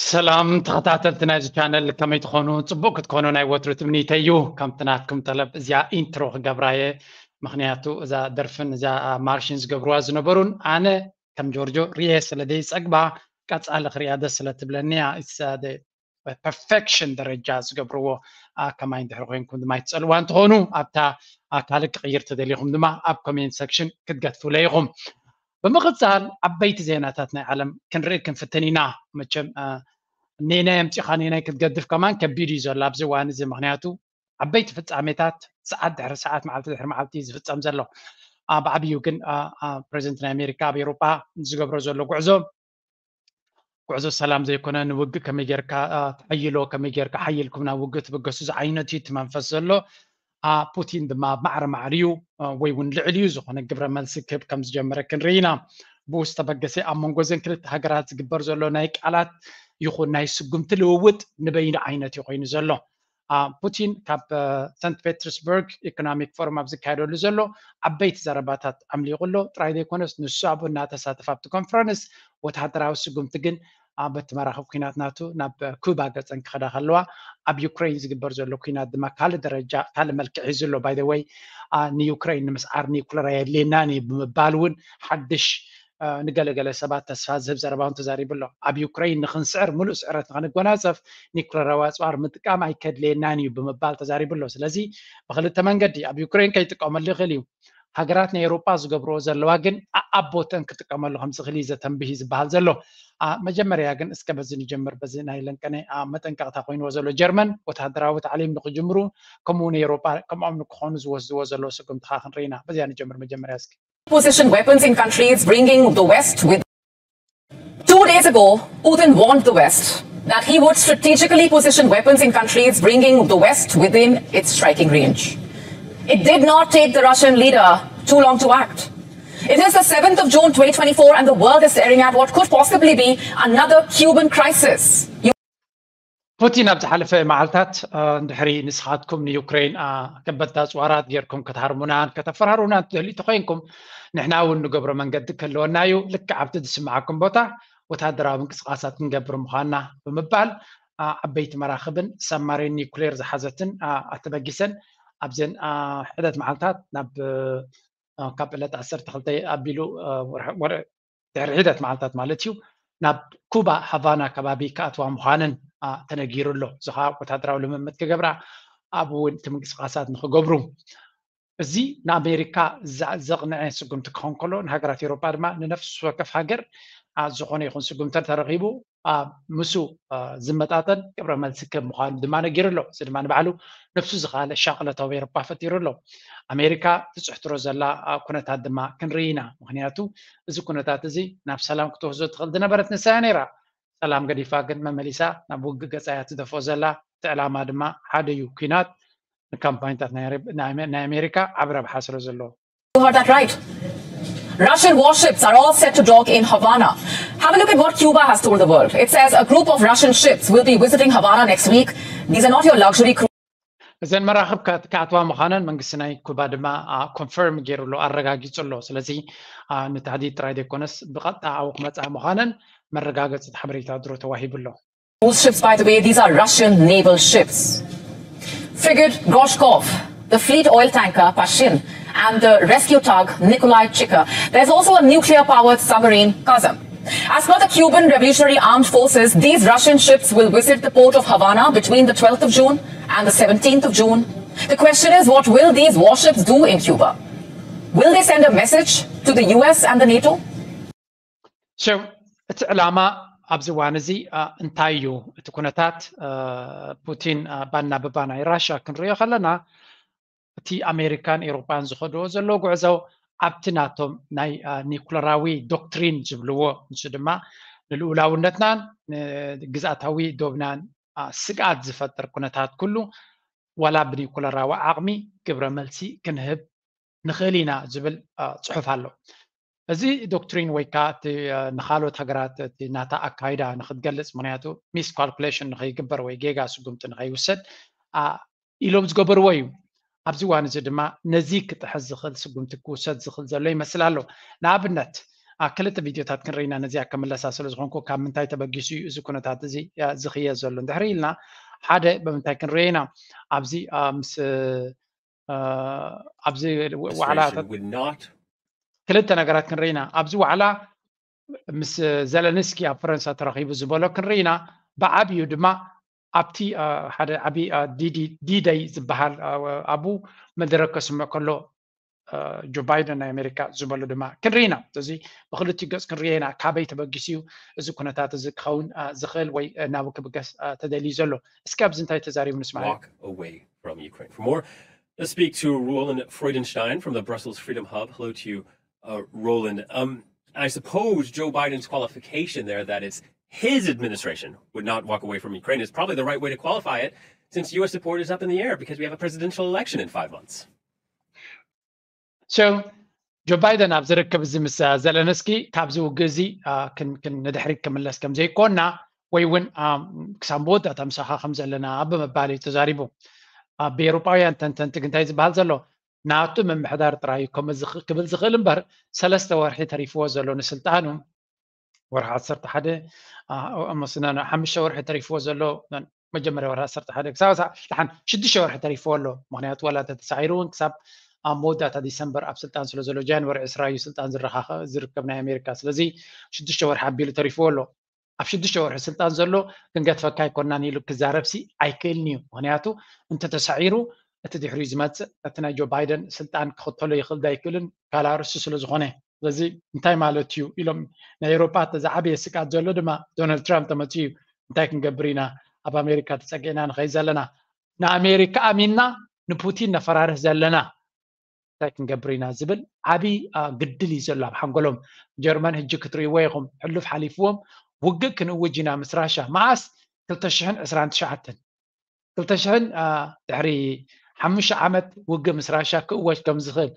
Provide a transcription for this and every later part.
ሰላም ተኸታተልቲ ናይዚ ቻነል፣ ከመይ ትኾኑ? ጽቡቕ ክትኮኑ ናይ ወትሩ ትምኒተይ እዩ። ከምቲ ናትኩም ጠለብ እዚኣ ኢንትሮ ክገብራ እየ፣ ምኽንያቱ እዛ ደርፍን እዛ ማርሽን ዝገብርዋ ዝነበሩን ኣነ ከም ጆርጆ ርየ ስለ ዘይጸግባ ቀጻሊ ክሪኣ ደስ ስለ ትብለኒ እያ። ፐርፌክሽን ደረጃ ዝገብርዎ ከማይ እንድሕር ኮይንኩም ድማ ይትጸልዋ እንትኾኑ ኣብታ ካልእ ክቕይር ተደሊኹም ድማ ኣብ ኮሜንት ሰክሽን ክትገትፉለ ኢኹም። ብምቕጻል ዓበይቲ ዜናታት ናይ ዓለም ክንርኢ ክንፍትን ኢና። መቸም ኔናይ ኣምጺኻ ኔናይ ክትገድፍ ከማን ከቢድ እዩ ዘሎ ኣብዚ እዋን እዚ፣ ምኽንያቱ ዓበይቲ ፍጻሜታት ሰዓት ድሕሪ ሰዓት መዓልቲ ድሕሪ መዓልቲ እዩ ዝፍጸም ዘሎ። ብዓብዩ ግን ፕሬዚደንት ናይ ኣሜሪካ ኣብ ኤውሮጳ ዝገብሮ ዘሎ ጉዕዞ ጉዕዞ ሰላም ዘይኮነ፣ ንውግእ ከመይ ጌርካ ተሓይሎ፣ ከመይ ጌርካ ሓይልኩም ናብ ውግእ ትብገሱ ዝዓይነቱ እዩ እቲ መንፈስ ዘሎ። ፑቲን ድማ ኣብ ማዕረ ማዕሪኡ ወይ እውን ልዕሊኡ ዝኾነ ግብረ መልሲ ክህብ ከም ዝጀመረ ክንርኢ ኢና። ብኡ ዝተበገሰ ኣብ መንጎ ዘን ክልተ ሃገራት ዝግበር ዘሎ ናይ ቃላት ይኹን ናይ ስጉምቲ ልውውጥ ንበይኑ ዓይነት እዩ ኮይኑ ዘሎ። ፑቲን ካብ ሰንት ፔተርስበርግ ኢኮኖሚክ ፎረም ኣብ ዝካየደሉ ዘሎ ዓበይቲ ዘረባታት ኣምሊቑ ኣሎ። ጥራይ ዘይኮነስ ንሱ ኣብኡ እናተሳተፈ ኣብቲ ኮንፈረንስ ወተሃደራዊ ስጉምቲ ግን በቲ መራኽብ ኩናት ናቱ ናብ ኩባ ገጸን ክኸዳ ከለዋ ኣብ ዩክሬን ዝግበር ዘሎ ኩናት ድማ ካልእ ደረጃ ካልእ መልክዕ ሒዙ ኣሎ። ባይ ዘ ወይ ንዩክሬን ንምስዓር ኒኩለር ኣየድልየናን እዩ ብምባል እውን ሓድሽ ንገለገለ ሰባት ተስፋ ዝህብ ዘረባ እውን ተዛሪቡ ኣሎ። ኣብ ዩክሬን ንክንስዕር ሙሉእ ስዕረት ንክንጎናጸፍ ኒኩለራዊ ኣጽዋር ምጥቃም ኣይከድልየናን እዩ ብምባል ተዛሪቡ ኣሎ። ስለዚ ብክልተ መንገዲ ኣብ ዩክሬን ከይጥቀመሉ ይኽእል እዩ። ሃገራት ናይ ኤውሮጳ ዝገብርዎ ዘለዋ ግን ኣኣቦተን ክጥቀመሉ ከም ዝኽእል እዩ ዘተንብህ እዩ ዝበሃል ዘሎ። መጀመርያ ግን እስከ በዚ ንጀምር። በዚ ናይ ለንቀነ መጠንቀቕታ ኮይንዎ ዘሎ ጀርመን ወተሃደራዊ ታዕሊም ንክጅምሩ ከምኡ እውን ኤውሮጳ ከምኦም ንክኾኑ ዝወስድዎ ዘለዉ ስጉምትኻ ክንርኢና። በዚያ ንጀምር መጀመርያ እስኪ። Position weapons in countries bringing the West with. Two days ago, Putin warned the West that he would strategically position weapons in countries bringing the West within its striking range. It did not take the Russian leader too long to act. It is the seventh of June twenty twenty-four, and the world is staring at what could possibly be another Cuban crisis. ፑቲን ኣብ ዝሓለፈ መዓልታት እንድሕሪ ንስኻትኩም ንዩክሬን ከበድቲ ኣፅዋራት ጌርኩም ከተሃርሙናን ከተፈራሩናን ትደልዩ ተኮይንኩም ንሕና እውን ንገብሮ መንገዲ ክህልወና እዩ። ልክዕ ኣብቲ ዝስምዓኩም ቦታ ወታደራዊ ምንቅስቃሳት ክንገብር ምዃንና ብምባል ዓበይቲ መራኽብን ሰማሪን ኒኩሌር ዝሓዘትን ኣተበጊሰን ኣብዘን ሕደት መዓልታት ናብ ካብ ዕለት ዓሰርተ ክልተ ኣቢሉ ድሕሪ ሒደት መዓልታት ማለት እዩ ናብ ኩባ ሃቫና ከባቢ ክኣትዋ ምዃነን ተነጊሩ ኣሎ። እዚ ከዓ ወታደራዊ ልምምድ ክገብራ ኣብኡ እውን እቲ ምንቅስቃሳት ንክገብሩ እዚ ንኣሜሪካ ዘቕንዐ ስጉምቲ ክኸውን ከሎ ንሃገራት ኤውሮጳ ድማ ንነፍሲ ወከፍ ሃገር ዝኾነ ይኹን ስጉምቲ ተረኺቡ ምስ ዝመጣጠን ግብረ መልሲ ክህብ ምዃኑ ድማ ነጊሩ ኣሎ። እዚ ድማ ንባዕሉ ነብሱ ዝኸኣለ ሻቕለት ኣብ ኤውሮጳ ፈጢሩ ኣሎ። ኣሜሪካ ትፅሕትሮ ዘላ ኩነታት ድማ ክንርኢ ኢና። ምክንያቱ እዚ ኩነታት እዚ ናብ ሰላም ክትወስዶ ትኽእል ዝነበረት ንሳ እያ ነይራ። ሰላም ገዲፋ ግን መመሊሳ ናብ ውግእ ገፃ እያ ትደፍኦ ዘላ። እቲ ዕላማ ድማ ሓደ እዩ፣ ኲናት ንካምፓኒታት ናይ ኣሜሪካ ዓቢ ረብሓ ስለ ዘለዎ። You heard that right. Russian warships are all set to dock in Havana. Have a look at what Cuba has told the world. It says a group of Russian ships will be visiting Havana next week. These are not your luxury cruise. እዘን መራኽብ ክኣትዋ ምዃነን መንግስቲ ናይ ኩባ ድማ ኮንፈርም ገይሩ ኣሎ፣ ኣረጋጊጹ ኣሎ። ስለዚ ንታህዲድ ጥራይ ዘይኮነስ ብቐጥታ ኣብኡ ክመጻ ምዃነን መረጋገጺ ሓበሬታ ድሮ ተዋሂቡ ኣሎ። Those ships, by the way, these are Russian naval ships. Frigate Gorshkov, the fleet oil tanker Pashin, and the rescue tug Nikolai Chika. There's also a nuclear-powered submarine Kazam. As per the Cuban Revolutionary Armed Forces, these Russian ships will visit the port of Havana between the twelfth of June and the seventeenth of June. The question is, what will these warships do in Cuba? Will they send a message to the U S and the NATO? So እቲ ዕላማ ኣብዚ እዋን እዚ እንታይ እዩ? እቲ ኩነታት ፑቲን ባና ብባና ናይ ራሽያ ክንሪኦ ከለና እቲ ኣሜሪካን ኤውሮጳን ዝኸድዎ ዘለዉ ጉዕዞ ኣብቲ ናቶም ናይ ኒኩለራዊ ዶክትሪን ዝብልዎ፣ ንሱ ድማ ንልኡላውነትናን ንግዝኣታዊ ዶብናን ስግኣት ዝፈጥር ኩነታት ኩሉ ዋላ ብኒኩለራዊ ዓቕሚ ግብረ መልሲ ክንህብ ንኽእል ኢና ዝብል ጽሑፍ ኣሎ። እዚ ዶክትሪን ወይ ከዓ እቲ ንካልኦት ሃገራት እቲ ናታ ኣካይዳ ንክትገልፅ፣ ምክንያቱ ሚስ ካልኩሌሽን ንከይግበር ወይ ጌጋ ስጉምቲ ንከይውሰድ ኢሎም ዝገበርዎ እዩ። ኣብዚ እዋን እዚ ድማ ነዚ ክጥሕስ ዝኽእል ስጉምቲ ክውሰድ ዝኽእል ዘሎ ይመስል ኣሎ። ንኣብነት ክልተ ቪድዮታት ክንርኢ ኢና። ነዚኣ ክምለሳ ስለ ዝኾንኩ ካብ ምንታይ ተበጊሱ እዩ እዚ ኩነታት እዚ ዝኽየ ዘሎ እንድሕር ኢልና፣ ሓደ ብምንታይ ክንርኢ ኢና? ኣብዚ ምስ ኣብዚ ዋዕላ ክልተ ነገራት ክንርኢ ኢና። ኣብዚ ዋዕላ ምስ ዘለንስኪ ኣብ ፈረንሳ ተራኺቡ ዝበሎ ክንርኢ ኢና። ብዓብዩ ድማ ኣብቲ ሓደ ዓብዪ ዲደይ ዝበሃል ኣብኡ መደረ ከስምዕ ከሎ ጆ ባይደን ናይ ኣሜሪካ ዝበሎ ድማ ክንርኢ ኢና። እዚ ብክልቲኡ ገፅ ክንርእዮ ኢና። ካበይ ተበጊሱ እዩ እዚ ኩነታት እዚ ክኸውን ዝኽእል ወይ ናበይ ክብገስ ተደልዩ ዘሎ? እስኪ ኣብዚ እንታይ ተዛሪቡ ንስማዕ። Walk away from Ukraine. For more, let's speak to Roland Freudenstein from the Brussels Freedom Hub. Hello to you, uh, Roland. Um, I suppose Joe Biden's qualification there, that it's his administration would not walk away from Ukraine, is probably the right way to qualify it, since U S support is up in the air because we have a presidential election in five months. So ጆ ባይደን ኣብ ዝርክብ እዚ ምስ ዘለንስኪ ካብዚ ውግእ እዚ ንድሕሪት ክምለስ ከም ዘይኮና ወይ እውን ክሳብ መወዳእታ ምሳኻ ከም ዘለና ብምባል እዩ ተዛሪቡ። ብኤውሮጳውያን ተንተንቲ ግን እንታይ ዝበሃል ዘሎ፣ ናቱ ምምሕዳር ጥራይ እዩ ክብል ዝኽእል እምበር ሰለስተ ወርሒ ተሪፍዎ ዘሎ ንስልጣኑ፣ ወርሒ ዓሰርተ ሓደ መስና ሓሙሽተ ወርሒ ተሪፍዎ ዘሎ፣ መጀመርያ ወርሒ ዓሰርተ ሓደ ክሳብ ደሓን ሽዱሽተ ወርሒ ተሪፍዎ ኣሎ። ምክንያቱ ዋላ እንተተሳዒሩ እውን ክሳብ ኣብ መወዳእታ ዲሰምበር ኣብ ስልጣን ስለ ዘሎ፣ ጃንዋሪ ዕስራ እዩ ስልጣን ዝርከብ ናይ ኣሜሪካ። ስለዚ ሽዱሽተ ወርሒ ኣቢሉ ተሪፍዎ ኣሎ። ኣብ ሽዱሽተ ወርሒ ስልጣን ዘሎ ክንገድፈካ ኣይኮናን ኢሉ ክዛረብሲ ኣይክእልን እዩ። ምክንያቱ እንተተሳዒሩ እቲ ድሕሪኡ ዝመፅእ እቲ ናይ ጆ ባይደን ስልጣን ክኽተሎ ይኽእል ዶ ኣይክእልን ካላርሱ ስለ ዝኾነ። ስለዚ እንታይ ማለት እዩ ኢሎም ናይ ኤውሮጳ ዝዓበየ ስግኣት ዘሎ ድማ ዶናልድ ትራምፕ ተመፅኡ እዩ። እንታይ ክንገብር ኢና? ኣብ ኣሜሪካ ተፀጊዕና ንኸይድ ዘለና፣ ንኣሜሪካ ኣሚንና ንፑቲን ነፈራርህ ዘለና እንታይ ክንገብር ኢና ዝብል ዓብዪ ግድል እዩ ዘሎ ኣብ ሓንጎሎም። ጀርመን ሕጂ ክትርእይዎ ኢኹም፣ ሕሉፍ ሓሊፍዎም ውግእ ክንእውጅ ኢና ምስ ራሻ። መዓስ? ክልተ ሽሕን ዕስራን ትሽዓተን። ክልተ ሽሕን ድሕሪ ሓሙሽተ ዓመት ውግእ ምስ ራሻ ክእወጅ ከም ዝኽእል፣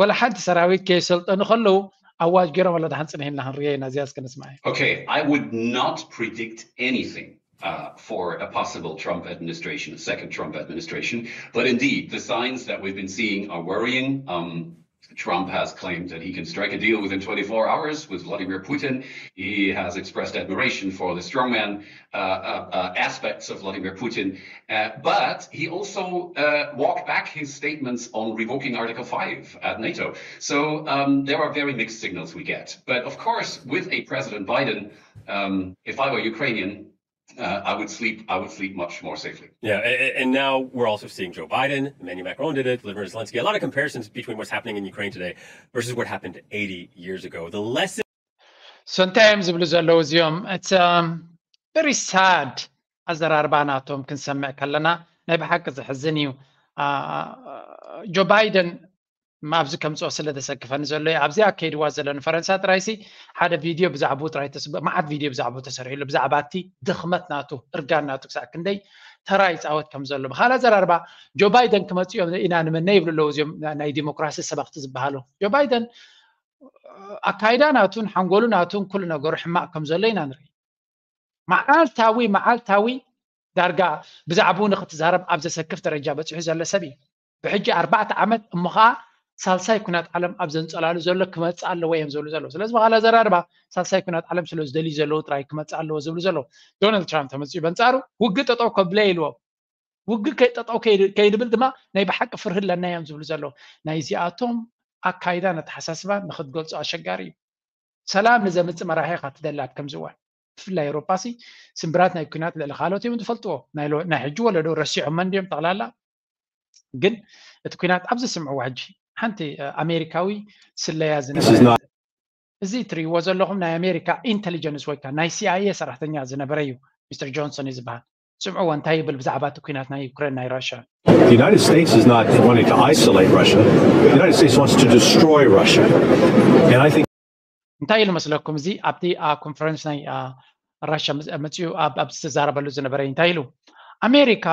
ወላ ሓንቲ ሰራዊት ከየሰልጠኑ ከለዉ ኣዋጅ ገይሮም ኣሎ። ደሓን ፅንሕ ኢልና ክንርእዮ ኢና። እዚኣ እስከ ንስማዕ። Okay, I would not predict anything uh, for a possible Trump administration, a second Trump administration. But indeed, the signs that we've been seeing are worrying. Um, Trump has claimed that he can strike a deal within twenty-four hours with Vladimir Putin. He has expressed admiration for the strongman uh, uh, uh, aspects of Vladimir Putin. Uh, but he also uh, walked back his statements on revoking Article five at NATO. So um, there are very mixed signals we get. But of course, with a President Biden, um, if I were Ukrainian, uh, I would sleep. I would sleep much more safely. Yeah, and, and now we're also seeing Joe Biden, Emmanuel Macron did it, Vladimir Zelensky. A lot of comparisons between what's happening in Ukraine today versus what happened eighty years ago. The lesson. So እንታይ እዮም ዝብሉ ዘለዉ እዚኦም? It's um, very sad ኣዘራርባ ናቶም ክንሰምዕ ከለና ናይ ብሓቂ ዘሕዝን እዩ። ጆ ባይደን ኣብዚ ከምፅኦ ስለ ዘሰክፈኒ ዘሎ እዩ። ኣብዚኣ ከይድዋ ዘሎ ንፈረንሳ ጥራይሲ ሓደ ቪድዮ ብዛዕባኡ ጥራይ ተስ-፣ መዓት ቪድዮ ብዛዕባኡ ተሰሪሕሉ፣ ብዛዕባ እቲ ድኽመት ናቱ፣ እርጋን ናቱ ክሳዕ ክንደይ ተራ ይፃወት ከም ዘሎ። ብኻልእ ኣዘራርባ ጆ ባይደን ክመፅኡ እዮም ኢና ንምነ ይብሉ ኣለዉ እዚኦም ናይ ዲሞክራሲ ሰበኽቲ ዝበሃሉ። ጆ ባይደን ኣካይዳ ናቱን ሓንጎሉ ናቱን ኩሉ ነገሩ ሕማቕ ከም ዘሎ ኢና ንርኢ። መዓልታዊ መዓልታዊ ዳርጋ ብዛዕባኡ ንክትዛረብ ኣብ ዘሰክፍ ደረጃ በፂሑ ዘሎ ሰብ እዩ። ብሕጂ ኣርባዕተ ዓመት እሞ ከዓ ሳልሳይ ኩናት ዓለም ኣብ ዘንፀላሉ ዘሎ ክመፅእ ኣለዎ እዮም ዝብሉ ዘለዉ። ስለዚ ብኻልእ ኣዘራርባ ሳልሳይ ኩናት ዓለም ስለ ዝደልዩ ዘለዉ ጥራይ ክመፅእ ኣለዎ ዝብሉ ዘለዉ። ዶናልድ ትራምፕ ተመፅኡ በንፃሩ ውግእ ጠጠው ከብለ ኢልዎም። ውግእ ከይ-፣ ጠጠው ከይድ-፣ ከይድብል ድማ ናይ ብሓቂ ፍርሂ ኣለና እዮም ዝብሉ ዘለዉ። ናይዚኣቶም ኣካይዳን ኣተሓሳስባን ንክትገልፆ ኣሸጋሪ እዩ። ሰላም ንዘምፅእ መራሒ ኢኻ ትደሊ ኣብ ከምዚ እዋን። ብፍላይ ኤውሮጳሲ ስምብራት ናይ ኩናት ልዕሊ ካልኦት እዮም ዝፈልጥዎ። ናይ ሎ-፣ ናይ ሕጂ ወለዶ ረሲዖሞ እንድዮም ጠቕላላ። ግን እቲ ኩናት ኣብ ዝስምዕዎ ሕጂ ሓንቲ ኣሜሪካዊ ስለያ ዝነበረ እዚ ትርእይዎ ዘለኹም ናይ ኣሜሪካ ኢንተሊጀንስ ወይ ከዓ ናይ ሲኣይኤ ሰራሕተኛ ዝነበረ እዩ። ሚስተር ጆንሰን እዩ ዝበሃል። ስምዕዎ እንታይ ይብል ብዛዕባ እቲ ኩናት ናይ ዩክሬን ናይ ራሽያ። The United States is not wanting to isolate Russia. The United States wants to destroy Russia. And I think እንታይ ኢሉ መስለኩም? እዚ ኣብቲ ኮንፈረንስ ናይ ራሽያ መፅኡ ኣብ ዝተዛረበሉ ዝነበረ እንታይ ኢሉ? ኣሜሪካ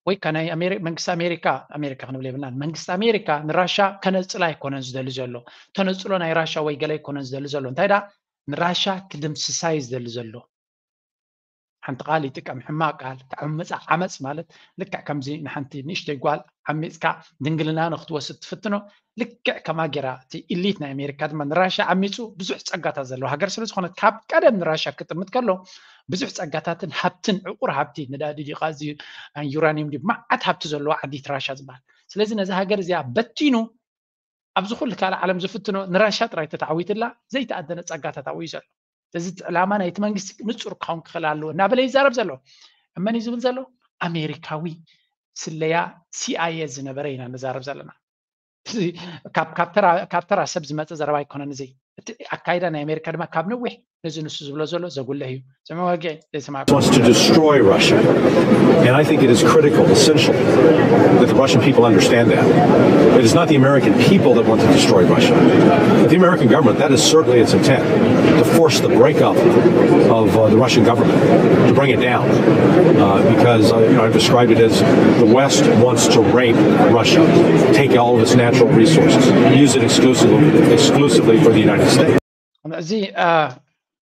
ወይ ከዓ ናይ መንግስቲ ኣሜሪካ፣ ኣሜሪካ ክንብል የብልናን፣ መንግስቲ ኣሜሪካ ንራሻ ከነፅላ ኣይኮነን ዝደሊ ዘሎ፣ ተነፅሎ ናይ ራሻ ወይ ገለ ኣይኮነን ዝደሊ ዘሎ። እንታይ ደኣ ንራሻ ክድምስሳ እዩ ዝደሊ ዘሎ። ሓንቲ ቃል ይጥቀም፣ ሕማቕ ቃል፣ ተዕምፃ። ዓመፅ ማለት ልክዕ ከምዚ ንሓንቲ ንእሽተይ ጓል ዓሚፅካ ድንግልና ንክትወስድ ትፍትኖ። ልክዕ ከማ ጌራ እቲ ኢሊት ናይ ኣሜሪካ ድማ ንራሻ ዓሚፁ ብዙሕ ፀጋታት ዘለዎ ሃገር ስለዝኾነ ካብ ቀደም ንራሻ ክጥምት ከሎ ብዙሕ ፀጋታትን ሃብትን ዕቁር ሃብቲ ነዳዲ ዲቃ እዚ ዩራኒየም ዲ መዓት ሃብቲ ዘለዎ ዓዲት ራሻ ዝበሃል። ስለዚ ነዚ ሃገር እዚኣ በቲኑ ኣብዚ ኩሉ ካልእ ዓለም ዝፍትኖ ንራሻ ጥራይ ተተዓዊትላ ዘይተኣደነ ፀጋታት ኣብኡ እዩ ዘሎ። እዚ ዕላማ ናይቲ መንግስቲ ንፁር ክኸውን ክኽእል ኣለዎ እናበለ ይዛረብ ዘሎ። እመን እዩ ዝብል ዘሎ ኣሜሪካዊ ስለያ ሲኣይኤ ዝነበረ ኢና ንዛረብ ዘለና። ካብ ተራ ሰብ ዝመፀ ዘረባ ኣይኮነን። እዚ እቲ ኣካይዳ ናይ ኣሜሪካ ድማ ካብ ነዊሕ ነዚ ንሱ ዝብሎ ዘሎ ዘጉልህ እዩ። ስምዕወገ ዘይስማዕ wants to destroy Russia. And I think it is critical, essential, that the Russian people understand that. It is not the American people that want to destroy Russia. But the American government, that is certainly its intent, to force the breakup of uh, the Russian government, to bring it down. Uh, because uh, you know, I've described it as the West wants to rape Russia, take all of its natural resources, use it exclusively, exclusively for the United States. እዚ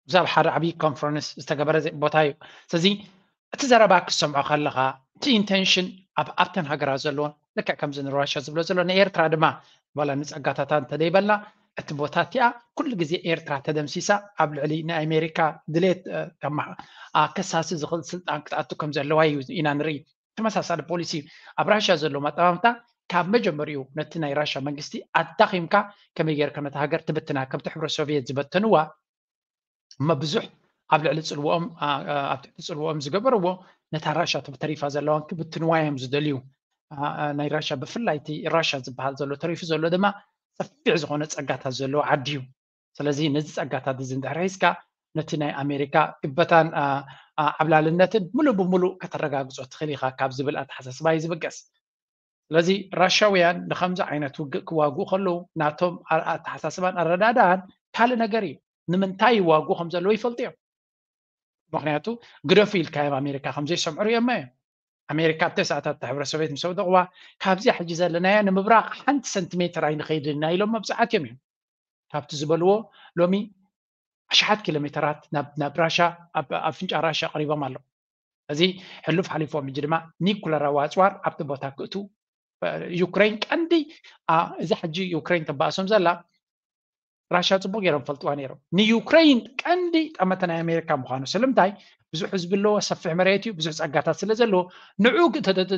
ብዛብ ሓደ ዓብዪ ኮንፈረንስ ዝተገበረ ቦታ እዩ። ስለዚ እቲ ዘረባ ክሰምዖ ከለኻ እቲ ኢንቴንሽን ኣብ ኣብተን ሃገራት ዘለዎን ልክዕ ከምዚ ንራሻ ዝብሎ ዘሎ ንኤርትራ ድማ ዋላ ንፀጋታታ እንተደይበልና እቲ ቦታ እቲኣ ኩሉ ግዜ ኤርትራ ተደምሲሳ ኣብ ልዕሊ ናይ ኣሜሪካ ድሌት ከሳሲ ዝኽእል ስልጣን ክትኣቱ ከም ዘለዋ እዩ ኢና ንርኢ። ተመሳሳሊ ፖሊሲ ኣብ ራሽያ ዘሎ ኣጠማምታ ካብ መጀመሪኡ ነቲ ናይ ራሽያ መንግስቲ ኣዳኺምካ ከመይ ጌርካ ነቲ ሃገር ትብትና ከምቲ ሕብረ ሶቪየት ዝበተንዋ እሞ ብዙሕ ኣብ ልዕሊ ፅልዎም ኣብ ትሕቲ ፅልዎም ዝገበርዎ ነታ ራሽያ ተሪፋ ዘለዋን ክብትንዋ እዮም ዝደልዩ። ናይ ራሽያ ብፍላይ እቲ ራሽያ ዝበሃል ዘሎ ተሪፉ ዘሎ ድማ ሰፊሕ ዝኾነ ፀጋታት ዘለዎ ዓዲ እዩ። ስለዚ ነዚ ፀጋታት እዚ እንድሕር ሒዝካ ነቲ ናይ ኣሜሪካ ግበታን ዓብላልነትን ሙሉእ ብሙሉእ ከተረጋግፆ ትኽእል ኢኻ ካብ ዝብል ኣተሓሳስባ እዩ ዝብገስ። ስለዚ ራሻውያን ንከምዚ ዓይነት ውግእ ክዋግኡ ከለዉ ናቶም ኣተሓሳስባን ኣረዳድኣን ካልእ ነገር እዩ። ንምንታይ ይዋግኡ ከም ዘለዉ ይፈልጡ እዮም። ምክንያቱ ግደፉ ኢልካዮም ኣሜሪካ ከም ዘይሰምዑ ሪኦማ እዮም። ኣሜሪካ ኣብ ተስዓታት ሕብረ ሶቪየት ምስ ኣውደቕዋ ካብዚኣ ሕጂ ዘለናያ ንምብራቕ ሓንቲ ሰንቲሜትር ኣይንኸይድን ኢና ኢሎም መብዛሕትኦም እዮም። ካብቲ ዝበልዎ ሎሚ ኣሽሓት ኪሎ ሜተራት ናብ ራሻ ኣብ ኣፍንጫ ራሻ ቀሪቦም ኣለዉ። እዚ ሕሉፍ ሓሊፎም ሕጂ ድማ ኒኩለራዊ ኣፅዋር ኣብቲ ቦታ ክእቱ ዩክሬን ቀንዲ እዚ ሕጂ ዩክሬን ተባእሶም ዘላ ራሻ ፅቡቅ ገይሮም ፈልጥዋ ነይሮም። ንዩክሬን ቀንዲ ጠመተ ናይ ኣሜሪካ ምዃኑ ስለምንታይ ብዙሕ ህዝቢ ኣለዎ፣ ሰፊሕ መሬት እዩ፣ ብዙሕ ፀጋታት ስለ ዘለዎ ንዑ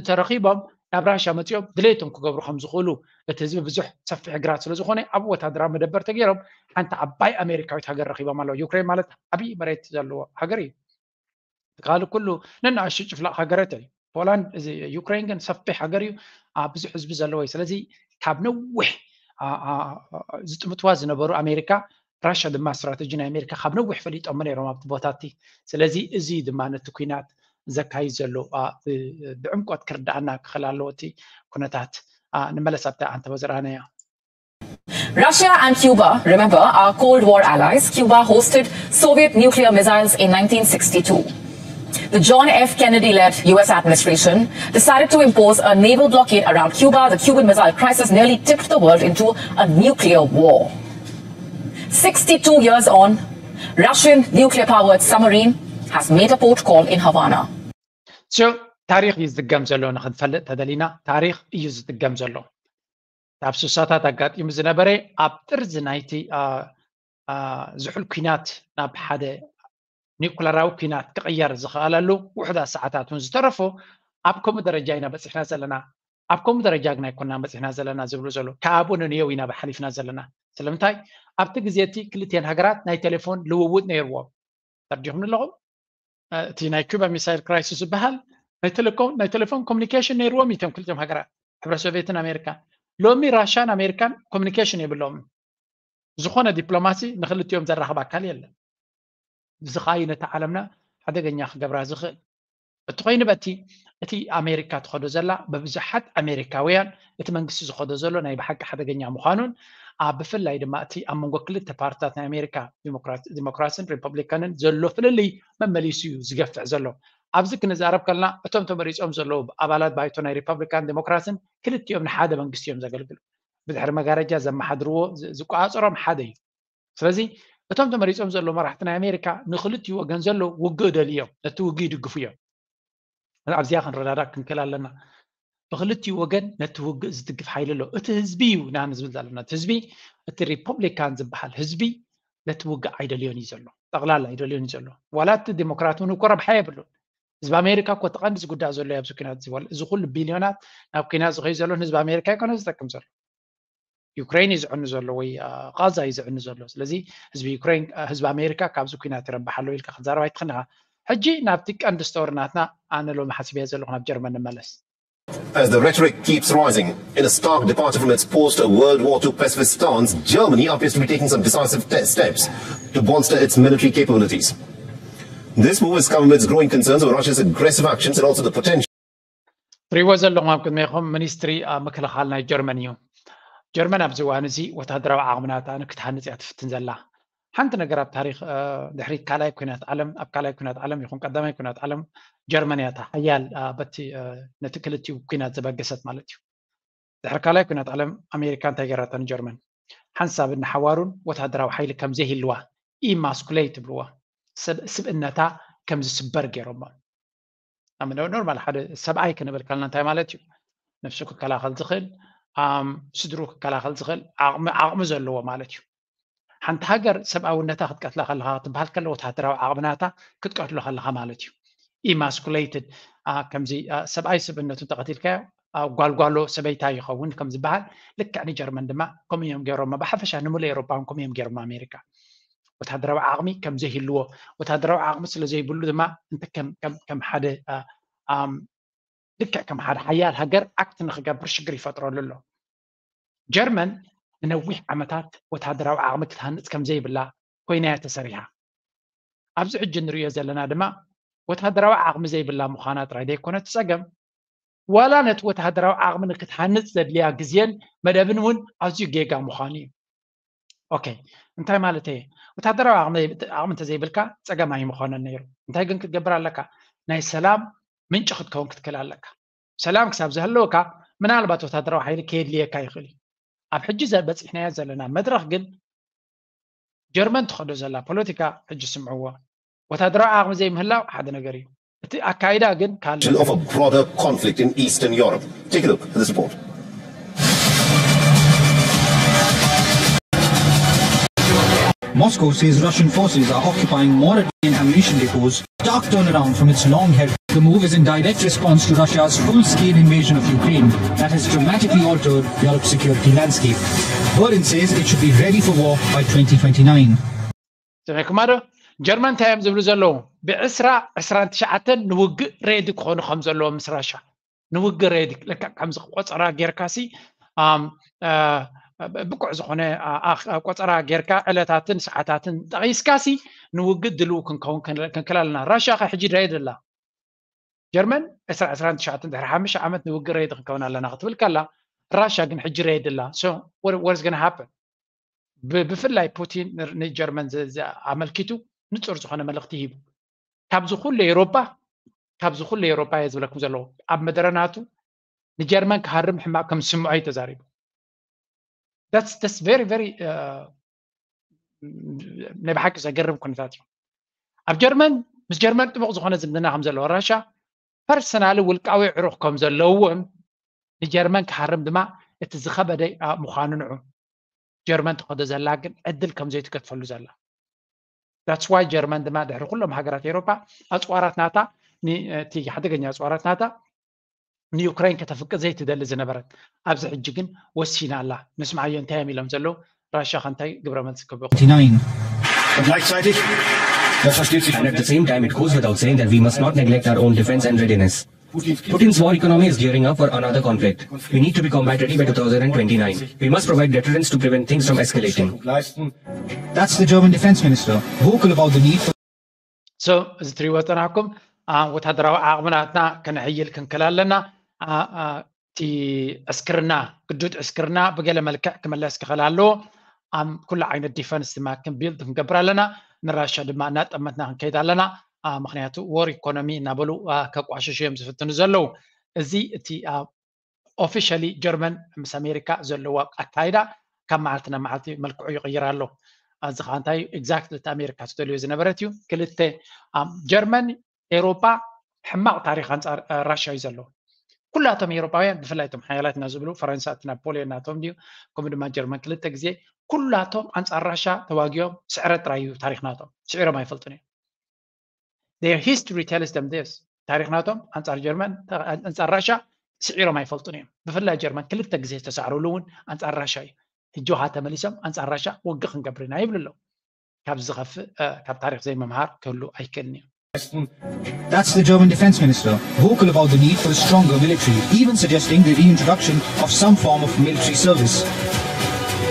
ተረኪቦም ናብ ራሻ መፂኦም ድሌቶም ክገብሩ ከም ዝኽእሉ እቲ ህዝቢ ብዙሕ ሰፊሕ ግራት ስለ ዝኾነ ኣብ ወታደራዊ መደበር ተገይሮም ሓንቲ ዓባይ ኣሜሪካዊት ሃገር ረኪቦም ኣለዉ። ዩክሬን ማለት ዓብዪ መሬት ዘለዎ ሃገር እዩ። ካልእ ኩሉ ነናእሽቱ ጭፍላቕ ሃገራት እዩ። ፖላንድ እዚ ዩክሬን ግን ሰፊሕ ሃገር እዩ። ብዙሕ ህዝቢ ዘለዎ እዩ። ስለዚ ካብ ነዊሕ ዝጥምትዋ ዝነበሩ ኣሜሪካ ራሻ ድማ ስትራተጂ ናይ ኣሜሪካ ካብ ነዊሕ ፈሊጦሞ ነይሮም ኣብቲ ቦታ እቲ። ስለዚ እዚ ድማ ነቲ ኩናት ዘካይድ ዘሎ ብዕምቆት ክርዳኣና ክኽእል ኣለዎ እቲ ኩነታት። ንመለስ ኣብታ ኣንተበ ዝረኣናያ Russia and Cuba, remember, are Cold War allies. Cuba hosted Soviet nuclear missiles in nineteen sixty-two. The John F. Kennedy led U S administration decided to impose a naval blockade around Cuba. The Cuban Missile Crisis nearly tipped the world into a nuclear war. Sixty-two years on, Russian nuclear powered submarine has made a port call in Havana. So, ታሪኽ እዩ ዝድገም ዘሎ። ንክንፈልጥ ተደሊና ታሪኽ እዩ ዝድገም ዘሎ። ኣብ ስሳታት ኣጋጢሙ ዝነበረ ኣብ ጥርዚ ናይቲ ዝሑል ኩናት ናብ ሓደ ኒኩለራዊ ኩናት ክቕየር ዝኽኣለሉ ውሑዳት ሰዓታት እውን ዝተረፎ ኣብ ከምኡ ደረጃ ኢና በፂሕና ዘለና። ኣብ ከምኡ ደረጃ ግን ኣይኮና በፂሕና ዘለና ዝብሉ ዘሎ ካብኡ ንንየው ኢና ሓሊፍና ዘለና። ስለምንታይ ኣብቲ ግዜ እቲ ክልቲኤን ሃገራት ናይ ቴሌፎን ልውውጥ ነይርዎም። ተርዲኹም ኣለኹም። እቲ ናይ ኩባ ሚሳይል ክራይሲስ ዝበሃል ናይ ቴሌኮም ናይ ቴሌፎን ኮሚኒኬሽን ነይርዎም እቶም ክልቲኦም ሃገራት ሕብረ ሶቪየትን ኣሜሪካን። ሎሚ ራሻን ኣሜሪካን ኮሚኒኬሽን የብሎም። ዝኾነ ዲፕሎማሲ ንክልቲኦም ዘራኽብ ኣካል የለን። እዚ ከዓ እዩ ነቲ ዓለምና ሓደገኛ ክገብራ ዝኽእል። እቲ ኮይኑ በቲ እቲ ኣሜሪካ ትኸዶ ዘላ ብብዙሓት ኣሜሪካውያን እቲ መንግስቲ ዝኸዶ ዘሎ ናይ ብሓቂ ሓደገኛ ምዃኑን ኣብ ብፍላይ ድማ እቲ ኣብ መንጎ ክልተ ፓርትታት ናይ ኣሜሪካ ዲሞክራስን ሪፐብሊካንን ዘሎ ፍልልይ መመሊሱ እዩ ዝገፍዕ ዘሎ። ኣብዚ ክንዛረብ ከለና እቶም ተመሪፆም ዘለዉ ኣባላት ባይቶ ናይ ሪፐብሊካን ዲሞክራስን ክልቲኦም ንሓደ መንግስቲ እዮም ዘገልግሉ። ብድሕሪ መጋረጃ ዘመሓድርዎ ዝቆፃፀሮም ሓደ እዩ። ስለዚ እቶም ተመሪፆም ዘለዉ መራሕቲ ናይ ኣሜሪካ ንክልቲኡ ወገን ዘለዉ ውግእ ደልዩ እዮም፣ ነቲ ውግእ ይድግፉ እዮም። ኣብዚኣ ክንረዳዳእ ክንክእል ኣለና። ብክልቲኡ ወገን ነቲ ውግእ ዝድግፍ ሓይሊ ኣሎ። እቲ ህዝቢ እዩ ኢና ንዝብል ዘለና። እቲ ህዝቢ፣ እቲ ሪፐብሊካን ዝበሃል ህዝቢ ነቲ ውግእ ኣይደልዮን እዩ ዘሎ። ጠቕላላ ኣይደልዮን እዩ ዘሎ። ዋላ እቲ ዴሞክራት እውን እኮ ረብሓ የብሉን። ህዝቢ ኣሜሪካ እኮ እቲ ቀንዲ ዝጉዳእ ዘሎ እዩ ኣብዚ ኩናት ዝበል። እዚ ኩሉ ቢልዮናት ናብ ኩናት ዝኸዩ ዘሎ ንህዝቢ ኣሜሪካ ኣይኮነ ዝጠቅም ዘሎ። ዩክሬን እዩ ዝዕኑ ዘሎ ወይ ቃዛ እዩ ዝዕኑ ዘሎ። ስለዚ ህዝቢ ዩክሬን ህዝቢ ኣሜሪካ ካብዚ ኩናት ይረብሕ ኣሎ ኢልካ ክትዛረብ ኣይትኽእልን ኢኻ። ሕጂ ናብቲ ቀንዲ ስቶሪ ናትና ኣነ ሎሚ ሓሲበያ ዘለኹ ናብ ጀርመን ንመለስ። As the rhetoric keeps rising, in a stark departure from its post-World War two pacifist stance, Germany appears to be taking some decisive te- steps to bolster its military capabilities. This move has come amidst growing concerns over Russia's aggressive actions and also the potential ትሪእዎ ዘለኹም ኣብ ቅድሜኹም ሚኒስትሪ ምክልኻል ናይ ጀርመን እዩ። ጀርመን ኣብዚ እዋን እዚ ወታደራዊ ዓቕምናታ ክትሃንፅ እያ ትፍትን ዘላ። ሓንቲ ነገር ኣብ ታሪክ ድሕሪ ካልኣይ ኩናት ዓለም ኣብ ካልኣይ ኩናት ዓለም ይኹን ቀዳማይ ኩናት ዓለም ጀርመን እያ ሓያል በቲ ነቲ ክልቲኡ ኩናት ዘበገሰት ማለት እዩ። ድሕሪ ካልኣይ ኩናት ዓለም ኣሜሪካ እንታይ ገራታ ንጀርመን? ሓንሳብን ንሓዋሩን ወታደራዊ ሓይሊ ከም ዘይህልዋ ኢማስኩሌት ትብልዋ ስብእነታ ከም ዝስበር ገይሮሞ። ኖርማል ሓደ ሰብኣይ ክንብል ከልና እንታይ ማለት እዩ? ነፍሱ ክከላኸል ዝኽእል ስድሩ ክከላኸል ዝኽእል ዓቕሚ ዘለዎ ማለት እዩ። ሓንቲ ሃገር ሰብኣውነታ ክትቀትላ ከለካ ክትበሃል ከሎ ወታደራዊ ዓቕምናታ ክትቀትሎ ከለካ ማለት እዩ። ኢማስኩሌትድ ከምዚ ሰብኣይ ስብእነቱ እንተቐቲልካዮ ጓልጓሎ ሰበይታ ይኸውን ከም ዝበሃል ልክዕ ንጀርመን ድማ ከምኡ እዮም ገይሮሞ። ብሓፈሻ ንምሉእ ኤሮፓ እውን ከምኡ እዮም ገይሮሞ ኣሜሪካ። ወታደራዊ ዓቕሚ ከም ዘይህልዎ ወታደራዊ ዓቕሚ ስለ ዘይብሉ ድማ እንተ ከም ሓደ ልክዕ ከም ሓደ ሓያል ሃገር ኣክት ንክገብር ሽግር ይፈጥረሉ ኣሎ። ጀርመን ንነዊሕ ዓመታት ወታደራዊ ዓቕሚ ክትሃንፅ ከም ዘይብላ ኮይና እያ ተሰሪሓ። ኣብዚ ሕጂ ንሪኦ ዘለና ድማ ወታደራዊ ዓቕሚ ዘይብላ ምዃና ጥራይ ዘይኮነ እቲ ፀገም ዋላ ነቲ ወታደራዊ ዓቕሚ ንክትሃንፅ ዘድልያ ግዜን መደብን እውን ኣዝዩ ጌጋ ምዃኑ እዩ። ኦኬ እንታይ ማለት እየ? ወታደራዊ ዓቕሚ እንተዘይብልካ ፀገም ኣይምኾነን ነይሩ። እንታይ ግን ክትገብር ኣለካ? ናይ ሰላም ምንጪ ክትከውን ክትክእል ኣለካ። ሰላም ክሳብ ዝህልወካ ምናልባት ወታደራዊ ሓይሊ ከየድልየካ ይኽእል እዩ። ኣብ ሕጂ በፂሕናዮ ዘለና መድረኽ ግን ጀርመን ትኸዶ ዘላ ፖለቲካ ሕጂ ስምዕዎ። ወታደራዊ ዓቕሚ ዘይምህላው ሓደ ነገር እዩ። እቲ ኣካይዳ ግን ካልእ of a broader conflict in Eastern Europe. Take a look at this report. Moscow says Russian forces are occupying more and ammunition depots. Stark turnaround from its long held. The move is in direct response to Russia's full scale invasion of Ukraine that has dramatically altered Europe's security landscape. Berlin says it should be ready for war by twenty twenty-nine. ሰሚዕኩማ ዶ? ጀርመን እንታይ እዮም ዝብሉ ዘለዉ? ብዕስራ ዕስራን ትሽዓተን ንውግእ ሬዲ ክኾኑ ከም ዘለዎም ምስ ራሻ ንውግእ ሬዲ ለካ ከምዚ ቆፀራ ጌርካሲ ብቁዕ ዝኾነ ቆፀራ ጌርካ ዕለታትን ሰዓታትን ጠቒስካሲ ንውግእ ድልው ክንከውን ክንክል ኣለና። ራሻ ከ ሕጂ ሬዲ ኣላ። ጀርመን ዕስራ ዕስራን ትሽዓተን ድሕሪ ሓሙሽተ ዓመት ንውግእ ሬዲ ክንከውን ኣለና ክትብል ከላ ራሻ ግን ሕጂ ሬዲ ኣላ። So what is gonna happen? ብፍላይ ፑቲን ንጀርመን ኣመልኪቱ ንፁር ዝኾነ መልእኽቲ ሂቡ። ካብዚ ኩሉ ኤውሮጳ ካብዚ ኩሉ ኤውሮጳ እየ ዝብለኩም ዘለኹ ኣብ መደረናቱ ንጀርመን ክሃርም ሕማቕ ከም ዝስምዖ እዩ ተዛሪቡ። That's very very ናይ ብሓቂ ዘገርም ኩነታት እዩ። ኣብ ጀርመን ምስ ጀርመን ጥቡቕ ዝኾነ ዝምድና ከም ዘለዎ ራሻ ፐርሰናሊ ውልቃዊ ዕሩኽ ከም ዘለዎም ንጀርመን ክሃርም ድማ እቲ ዝኸበደ ምዃኑ ንዑ ጀርመን ትኸዶ ዘላ ግን ዕድል ከም ዘይትገድፈሉ ዘላ። That's why ጀርመን ድማ ድሕሪ ኩሎም ሃገራት ኤውሮፓ ኣፅዋራት ናታ እቲ ሓደገኛ ኣፅዋራት ናታ ንዩክሬን ከተፍቅድ ዘይትደሊ ዝነበረት ኣብዚ ሕጂ ግን ወሲና ኣላ። ንስምዓዮ እንታይ እዮም ኢሎም ዘለዉ ራሻ ከ እንታይ ግብረ መልሲ ክህቡ But gleichzeitig, das versteht sich. And at the same time, it goes without saying that we must not neglect our own defense and readiness. Putin's war economy is gearing up for another conflict. We need to be combat ready by two thousand twenty-nine. We must provide deterrence to prevent things from escalating. That's the German defense minister, vocal about the need for So እዚ ትሪእዎ ዝፀናሕኩም ወታደራዊ ዓቕምናትና ከነሕይል ክንክል ኣለና። እቲ ዕስክርና ግዱድ ዕስክርና ብገለ መልክዕ ክምለስ ክኽእል ኣለዎ። ኣብ ኩሉ ዓይነት ዲፈንስ ድማ ክንቢልድ ክንገብር ኣለና። ንራሻ ድማ እናጠመትና ክንከይድ ኣለና። ምክንያቱ ወር ኢኮኖሚ እናበሉ ከቋሽሹ እዮም ዝፍትኑ ዘለዉ። እዚ እቲ ኦፊሻሊ ጀርመን ምስ ኣሜሪካ ዘለዋ ኣካይዳ ካብ መዓልቲ ናብ መዓልቲ መልክዑ ይቕይር ኣሎ። እዚ ከዓ እንታይ እዩ? ኤግዛክትሊ እቲ ኣሜሪካ ትደልዮ ዝነበረት እዩ። ክልተ ጀርመን ኤውሮፓ ሕማቕ ታሪክ ኣንፃር ራሻ እዩ ዘለዎ። ኩላቶም ኤውሮጳውያን፣ ብፍላይ እቶም ሓያላት ኢና ዝብሉ፣ ፈረንሳ እቲ ናፖሊዮን ናቶም ድዩ፣ ከምኡ ድማ ጀርመን ክልተ ግዜ፣ ኩላቶም ኣንጻር ራሻ ተዋጊኦም ስዕረት ጥራይ እዩ ታሪኽ ናቶም። ስዒሮም ኣይፈልጡን እዮም። Their history tells them this. ታሪኽ ናቶም ኣንጻር ጀርመን፣ ኣንጻር ራሻ ስዒሮም ኣይፈልጡን እዮም። ብፍላይ ጀርመን ክልተ ግዜ ዝተሳዕሩሉ እውን ኣንጻር ራሻ እዩ። ሕጂ ውሃ ተመሊሶም ኣንጻር ራሻ ውግእ ክንገብር ኢና ይብሉ ኣለዉ። ካብ ዝኸፍእ ካብ ታሪኽ ዘይምምሃር ክህሉ ኣይክእልን እዩ። That's the German defense minister, vocal about the need for a stronger military, even suggesting the reintroduction of some form of military service.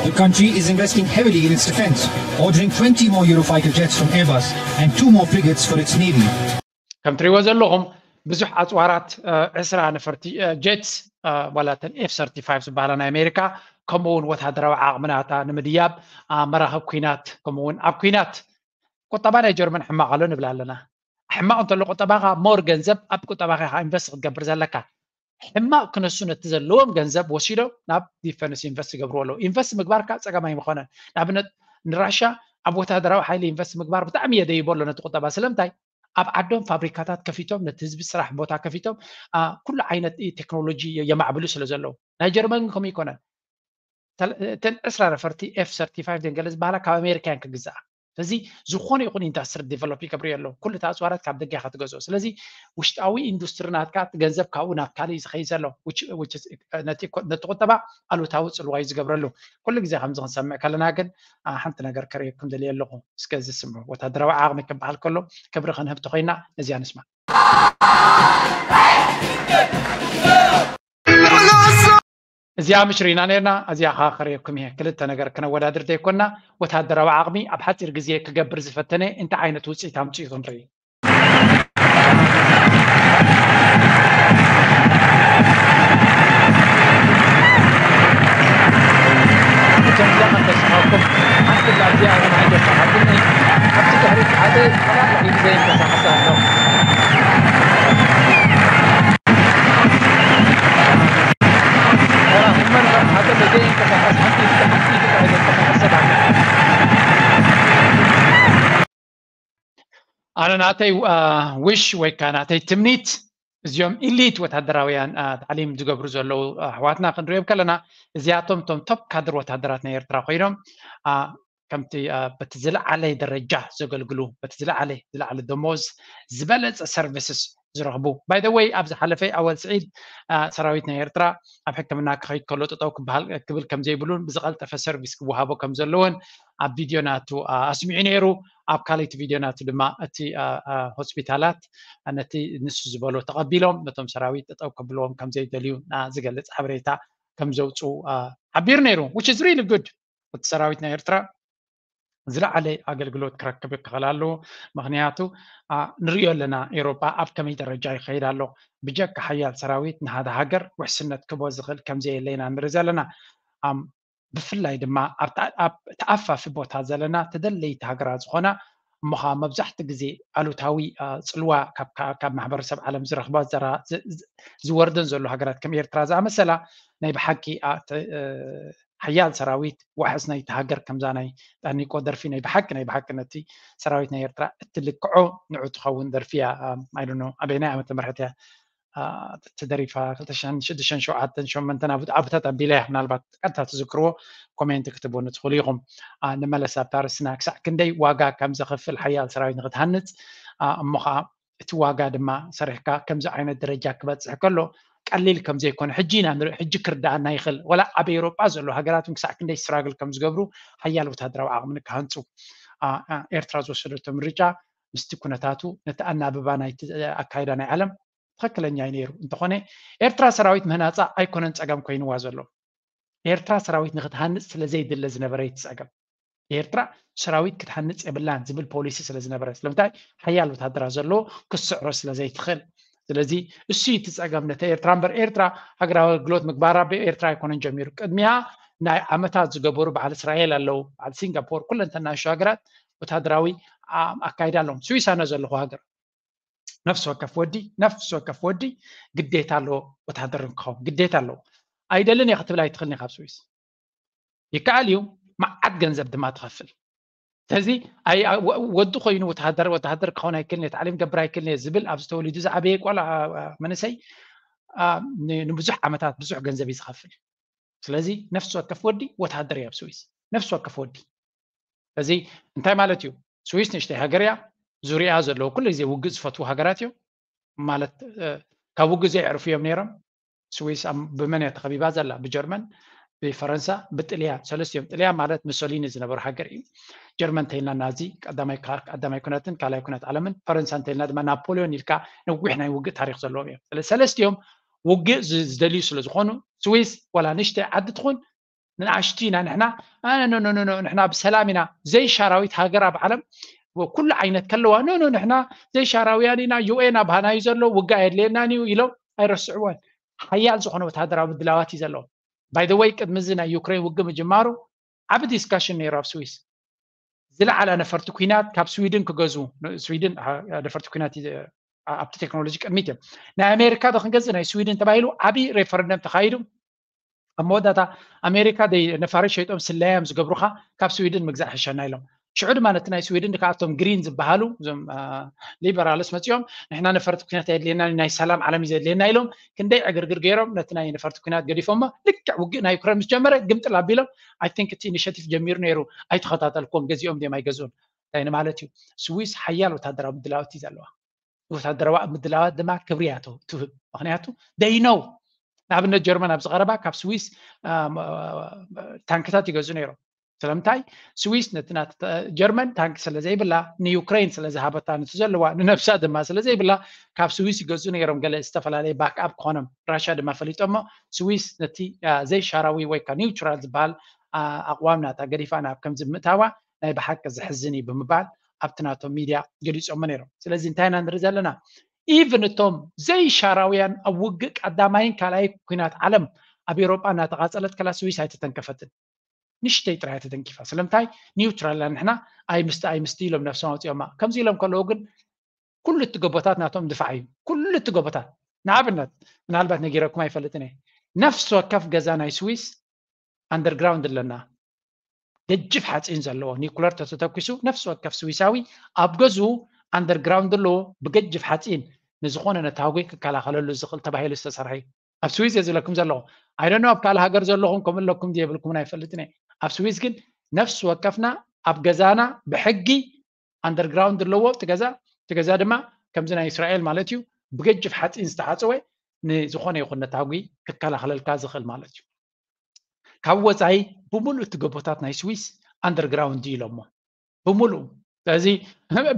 The country is investing heavily in its defense, ordering twenty more Eurofighter jets from Airbus and two more frigates for its navy. ከም ትሪእዎ ዘለኹም ብዙሕ ኣፅዋራት ዕስራ ነፈርቲ ጀትስ ዋላ ተን ኤፍ ሰርቲፋይቭ ዝበሃላ ናይ ኣሜሪካ ከምኡ እውን ወታደራዊ ዓቕምናታ ንምድያብ መራኸብ ኩናት ከምኡ እውን ኣብ ኩናት ቁጠባ ናይ ጀርመን ሕማቕ ኣሎ ንብል ኣለና። ሕማቕ እንተሎ ቁጠባኻ ሞር ገንዘብ ኣብ ቁጠባኻ ኢኻ ኢንቨስት ክትገብር ዘለካ። ሕማቕ ክነሱ ነቲ ዘለዎም ገንዘብ ወሲዶም ናብ ዲፈንስ ኢንቨስት ይገብርዎ ኣለዉ። ኢንቨስት ምግባርካ ፀገም ኣይምኾነን። ንኣብነት ንራሻ ኣብ ወታደራዊ ሓይሊ ኢንቨስት ምግባር ብጣዕሚ የደይቦ ኣሎ ነቲ ቁጠባ። ስለምንታይ? ኣብ ዓዶም ፋብሪካታት ከፊቶም ነቲ ህዝቢ ስራሕ ቦታ ከፊቶም ኩሉ ዓይነት ቴክኖሎጂ የማዕብሉ ስለ ዘለዉ። ናይ ጀርመን ግን ከምኡ ይኮነን። እተን ዕስራ ነፈርቲ ኤፍ ሰርቲፋይቭ ደንገለ ዝበሃላ ካብ ኣሜሪካያን ክግዛኣ። ስለዚ ዝኾነ ይኹን ኢንዳስትሪ ዲቨሎፕ ይገብር የለው። ኩሉ እቲ ኣፅዋራት ካብ ደገ ኢኻ ትገዝኦ። ስለዚ ውሽጣዊ ኢንዱስትሪ ናትካ እቲ ገንዘብ ካብኡ ናብ ካልእ እዩ ዝኸይድ ዘሎ። ነቲ ቁጠባ ኣሉታዊ ፅልዋ እዩ ዝገብረሉ። ኩሉ ግዜ ከምዚ ክንሰምዕ ከለና ግን ሓንቲ ነገር ከርእየኩም ደልየ ኣለኹ። እስከ እዚ ስምዑ። ወታደራዊ ዓቕሚ ክበሃል ከሎ ክብሪ ክንህብ ተኾይና ነዚኣ ንስማ። እዚኣ ምሽ ርኢና ነርና። እዚኣ ኸዓ ከርእየኩም እየ። ክልተ ነገር ክነወዳድር ዘይኮና፣ ወታደራዊ ዓቕሚ ኣብ ሓፂር ግዜ ክገብር ዝፈተነ እንታይ ዓይነት ውፅኢት ኣምፂኡ ክንርኢ። እቶም እዛ ከም ተስፋኩም ሓንቲ ካብዚኣ እያ ንዓይ ዘስሓትኒ። ኣብቲ ድሕሪት ሓደ ተላላዒ ብዘይ እንቀሳቐስ ኣሎ። ኣነ ናተይ ዊሽ ወይ ከዓ ናተይ ትምኒት እዚኦም ኢሊት ወታደራውያን ታዕሊም ዝገብሩ ዘለዉ ኣሕዋትና ክንሪኦም ከለና እዚኣቶም እቶም ቶፕ ካድር ወታደራት ናይ ኤርትራ ኮይኖም ከምቲ በቲ ዝለዓለ ደረጃ ዘገልግሉ በቲ ዝለዓለ ዝለዓለ ደሞዝ ዝበለፀ ሰርቪስስ ዝረኽቡ። By the way ኣብ ዝሓለፈ ኣወል ስዒድ ሰራዊት ናይ ኤርትራ ኣብ ሕክምና ክኸይድ ከሎ ጠጠው ክበሃል ክብል ከም ዘይብሉን ብዝቐልጠፈ ሰርቪስ ክወሃቦ ከም ዘለዎን ኣብ ቪድዮ ናቱ ኣስሚዑ ነይሩ። ኣብ ካልኣይቲ ቪድዮ ናቱ ድማ እቲ ሆስፒታላት ነቲ ንሱ ዝበሎ ተቐቢሎም ነቶም ሰራዊት ጠጠው ከብልዎም ከም ዘይደልዩ ዝገልፅ ሓበሬታ ከም ዘውፅኡ ሓቢሩ ነይሩ። Which is really good። እቲ ሰራዊት ናይ ኤርትራ ዝለዓለ ኣገልግሎት ክረክብ ክኽእል ኣለዎ። ምኽንያቱ ንሪኦ ኣለና ኤውሮጳ ኣብ ከመይ ደረጃ ይኸይድ ኣሎ። ብጀካ ሓያል ሰራዊት ንሓደ ሃገር ውሕስነት ክቦ ዝኽእል ከምዘየለ ኢና ንርኢ ዘለና። ብፍላይ ድማ ኣብ ተኣፋፊ ቦታ ዘለና ተደለይቲ ሃገራት ዝኾና እሞ ከዓ መብዛሕቲ ግዜ ኣሉታዊ ፅልዋ ካብ ማሕበረሰብ ዓለም ዝረኽባ ዝወርደን ዘሎ ሃገራት ከም ኤርትራ ዝኣመሰላ ናይ ብሓቂ ሓያል ሰራዊት ዋሕስ ናይቲ ሃገር ከምዛ ናይ ጣኒቆ ደርፊ ናይ ብሓቂ ናይ ብሓቂ ነቲ ሰራዊት ናይ ኤርትራ እትልክዖ ንዑ ትኸውን ደርፊ እያ። ኣይዶኖ ኣበይናይ ዓመተ ምሕረት እያ ተደሪፋ ክልተ ሽሕን ሽዱሽተን ሸውዓተን ሸሞንተን ኣብታት ኣቢላ እያ። ምናልባት ቀጥታ ትዝክርዎ ኮሜንት ክትብሉ ትኽእሉ ኢኹም። ንመለስ ኣብታ ርስና ክሳዕ ክንደይ ዋጋ ከም ዘኽፍል ሓያል ሰራዊት ንክትሃንፅ እሞ ከዓ እቲ ዋጋ ድማ ሰሪሕካ ከምዚ ዓይነት ደረጃ ክበፅሕ ከሎ ቀሊል ከም ዘይኮነ ሕጂ ኢና ንርኢ። ሕጂ ክርዳኣና ይኽእል። ወላ ኣብ ኤውሮጳ ዘሎ ሃገራት እውን ክሳዕ ክንደይ ስትራግል ከም ዝገብሩ ሓያል ወታደራዊ ዓቕሚ ንክሃንፁ ኤርትራ ዝወሰደቶ ምርጫ ምስቲ ኩነታቱ ነቲ ኣናብባ ናይቲ ኣካይዳ ናይ ዓለም ትኽክለኛ እዩ ነይሩ። እንተኾነ ኤርትራ ሰራዊት ምህናፃ ኣይኮነን ፀገም ኮይንዋ ዘሎ። ኤርትራ ሰራዊት ንክትሃንፅ ስለ ዘይድለ ዝነበረ እቲ ፀገም። ኤርትራ ሰራዊት ክትሃንፅ የብላን ዝብል ፖሊሲ ስለ ዝነበረ ስለምንታይ ሓያል ወታደራ ዘለዎ ክትስዕሮ ስለ ዘይትኽእል። ስለዚ እሱ እቲ ፀገም ነተ ኤርትራ እምበር ኤርትራ ሃገራዊ ኣገልግሎት ምግባራ ብኤርትራ ኣይኮነን ጀሚሩ። ቅድሚያ ናይ ዓመታት ዝገበሩ በዓል እስራኤል ኣለዉ፣ በዓል ሲንጋፖር፣ ኩለን ተናሹ ሃገራት ወታደራዊ ኣካይዳ ኣለዎም። ስዊስ ኣነ ዘለኹ ሃገር ነፍሲ ወከፍ ወዲ ነፍሲ ወከፍ ወዲ ግዴታ ኣለዎ ወታደር ክኸውን ግዴታ ኣለዎ። ኣይደልን እየ ክትብል ኣይትኽእልን ኢኻ ኣብ ስዊስ። ይከኣል እዩ፣ መዓት ገንዘብ ድማ ትኸፍል። ስለዚ ወዲ ኮይኑ ወተሃደር ወተሃደር ክኸውን ኣይክእልን እየ፣ ታዕሊም ገብር ኣይክእልን እየ ዝብል ኣብዚ ተወሊዱ ዝዓበየ ቆልዓ መንእሰይ ንብዙሕ ዓመታት ብዙሕ ገንዘብ እዩ ዝኸፍል። ስለዚ ነፍሲ ወከፍ ወዲ ወታደር እዩ ኣብ ስዊስ፣ ነፍሲ ወከፍ ወዲ። ስለዚ እንታይ ማለት እዩ? ስዊስ ንእሽተይ ሃገር እያ። ዙሪያ ዘለዉ ኩሉ ግዜ ውግእ ዝፈትዉ ሃገራት እዮም። ማለት ካብ ውግእ ዘየዕርፉ እዮም ነይሮም። ስዊስ ብመን እያ ተኸቢባ ዘላ? ብጀርመን፣ ብፈረንሳ፣ ብጥልያን። ሰለስቲኦም፣ ጥልያን ማለት ሙሶሊኒ ዝነበሩ ሃገር እዩ። ጀርመን እንተይልና ናዚ ቀዳማይ ኩነትን ካልኣይ ኩነት ዓለምን፣ ፈረንሳ እንተይልና ድማ ናፖሊዮን ኢልካ ነዊሕ ናይ ውግእ ታሪክ ዘለዎም እዮም። ሰለስቲኦም ውግእ ዝደልዩ ስለ ዝኾኑ፣ ስዊስ ዋላ ንእሽተይ ዓዲ ትኹን ንኣሽቱ ኢና ንሕና፣ ንሕና ብሰላም ኢና። ዘይሻራዊት ሃገር ኣብ ዓለም ኩሉ ዓይነት ከለዋ፣ ኖ ኖ፣ ንሕና ዘይሻራውያን ኢና፣ ዩኤን ኣብ ሃናዩ ዘሎ፣ ውግእ ኣየድልየናን እዩ ኢሎም ኣይረስዕዎን። ሓያል ዝኾነ ወታደራዊ ምድላዋት እዩ ዘለዎም። ባይ ዘ ወይ፣ ቅድሚ እዚ ናይ ዩክሬን ውግእ ምጅማሩ ዓቢ ዲስካሽን ነይሩ ኣብ ስዊስ። ዝለዓለ ነፈርቲ ኩናት ካብ ስዊድን ክገዝኡ፣ ስዊድን ነፈርቲ ኩናት ኣብቲ ቴክኖሎጂ ቅድሚት እዮም። ናይ ኣሜሪካ ዶ ክንገዝእ ናይ ስዊድን ተባሂሉ ዓቢ ሬፈረንደም ተኻይዱ። ኣብ መወዳእታ ኣሜሪካ ደይ ነፋሪት ሸይጦም ስለያዮም ዝገብሩኻ፣ ካብ ስዊድን ምግዛእ ሕሸና ኢሎም። ሽዑ ድማ ነቲ ናይ ስዊድን ከኣቶም ግሪን ዝበሃሉ እዞም ሊበራልስ መፂኦም፣ ንሕና ነፈርቲ ኩናት ኣየድልየና፣ ናይ ሰላም ዓለም እዩ ዘድልየና ኢሎም። ክንደይ ዕግርግር ገይሮም ነቲ ናይ ነፈርቲ ኩናት ገዲፎሞ። ልክዕ ውግእ ናይ ዩክሬን ምስ ጀመረ ግምጥል ኣቢሎም። ኣይ ቲንክ እቲ ኢኒሽቲቭ ጀሚሩ ነይሩ፣ ኣይተኸታተልኩም፣ ገዚኦም ድዮም ኣይገዝኡን እንታይ ንማለት እዩ። ስዊስ ሓያል ወታደራዊ ምድላዋት እዩ ዘለዋ። ወታደራዊ ምድላዋት ድማ ክብሪ እያ ትህብ። ምክንያቱ ደይ ነው። ንኣብነት ጀርመን ኣብዚ ቀረባ ካብ ስዊስ ታንክታት ይገዙ ነይሮም። ስለምንታይ? ስዊስ ነቲ ጀርመን ታንክ ስለ ዘይብላ፣ ንዩክሬን ስለ ዝሃበታ፣ ነቲ ዘለዋ ንነብሳ ድማ ስለ ዘይብላ፣ ካብ ስዊስ ይገዙ ነይሮም። ገለ ዝተፈላለየ ባክኣፕ ክኾኖም ራሽያ ድማ ፈሊጦሞ። ስዊስ ነቲ ዘይሻራዊ ወይ ከዓ ኒውትራል ዝበሃል ኣቕዋም ናታ ገዲፋ ናብ ከምዚ ምእታዋ ናይ ብሓቂ ዘሕዝን እዩ ብምባል ኣብቲ ናቶም ሚድያ ገሊፆሞ ነይሮም። ስለዚ እንታይ ኢና ንርኢ ዘለና? ኢቭን እቶም ዘይሻራውያን ኣብ ውግእ ቀዳማይን ካልኣይ ኩናት ዓለም ኣብ ኤሮጳ እናተቓፀለት ከላ ስዊስ ኣይተተንከፈትን። ንሽተይ ጥራይ ተተንኪፋ። ስለምንታይ? ኒውትራል ንሕና፣ ኣይ ምስቲ ኣይ ምስቲ ኢሎም ነብሶም ኣውፂኦማ። ከምዚ ኢሎም ከለዉ ግን ኩሉ እቲ ጎቦታት ናቶም ድፋዕ እዩ። ኩሉ እቲ ጎቦታት፣ ንኣብነት፣ ምናልባት ነጊረኩም ኣይፈልጥን እየ፣ ነፍሲ ወከፍ ገዛ ናይ ስዊስ ኣንደርግራውንድ ኣለና። ገጅፍ ሓፂን ዘለዎ ኒኩለር ተተተኪሱ፣ ነፍሲ ወከፍ ስዊሳዊ ኣብ ገዝኡ ኣንደርግራውንድ ኣለዎ። ብገጅፍ ሓፂን ንዝኾነ ነታጒ ክከላኸለሉ ዝኽእል ተባሂሉ ዝተሰርሐ እዩ። ኣብ ስዊስ እየ ዝብለኩም ዘለኹ። ኣይ ዶንት ኖ ኣብ ካልእ ሃገር ዘለኹም ከምኡ ኣለኩም ድየብልኩምን ኣይፈልጥን እየ። ኣብ ስዊስ ግን ነፍሲ ወከፍና ኣብ ገዛና ብሕጊ ኣንደርግራውንድ ኣለዎ። እቲ ገዛ እቲ ገዛ ድማ ከምዚ ናይ እስራኤል ማለት እዩ፣ ብገጅፍ ሓፂን ዝተሓፀወ፣ ንዝኾነ ይኹን ነታጒ ክከላኸለልካ ዝኽእል ማለት እዩ። ካብ ወፃኢ ብምሉእ እቲ ጎቦታት ናይ ስዊስ ኣንደርግራውንድ ኢሎሞ ብምሉእ። ስለዚ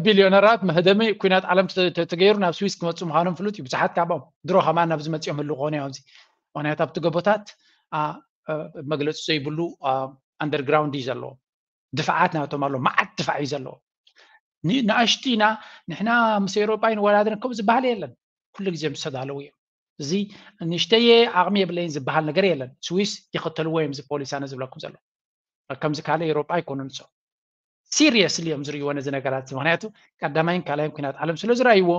ቢልዮነራት መህደሚ ኩናት ዓለም ተገይሩ ናብ ስዊስ ክመፁ ምዃኖም ፍሉጥ እዩ። ብዙሓት ካብኦም ድሮ ከማን ናብዚ መፂኦም ህሉ ክኾኑ እዮም። ኣብዚ ምክንያቱ ኣብቲ ጎቦታት መግለፂ ዘይብሉ ኣንደርግራውንድ እዩ ዘለዎ። ድፍዓት ናቶም ኣሎ፣ መዓት ድፋዕ እዩ ዘለዎ። ንኣሽቱ ኢና ንሕና ምስ ኤውሮጳ ይንወዳደር ከም ዝበሃል የለን። ኩሉ ግዜ ምስ ተዳለዉ እዮም። እዚ ንእሽተየ ዓቕሚ የብለይን ዝበሃል ነገር የለን። ስዊስ ይኽተልዎ እዮም እዚ ፖሊሲ ኣነ ዝብለኩም ዘሎ። ከምዚ ካልእ ኤውሮጳ ኣይኮኑን። ሶ ሲሪየስሊ እዮም ዝርእይዎ ነዚ ነገራት እዚ። ምክንያቱ ቀዳማይን ካልኣይን ኩናት ዓለም ስለ ዝረኣይዎ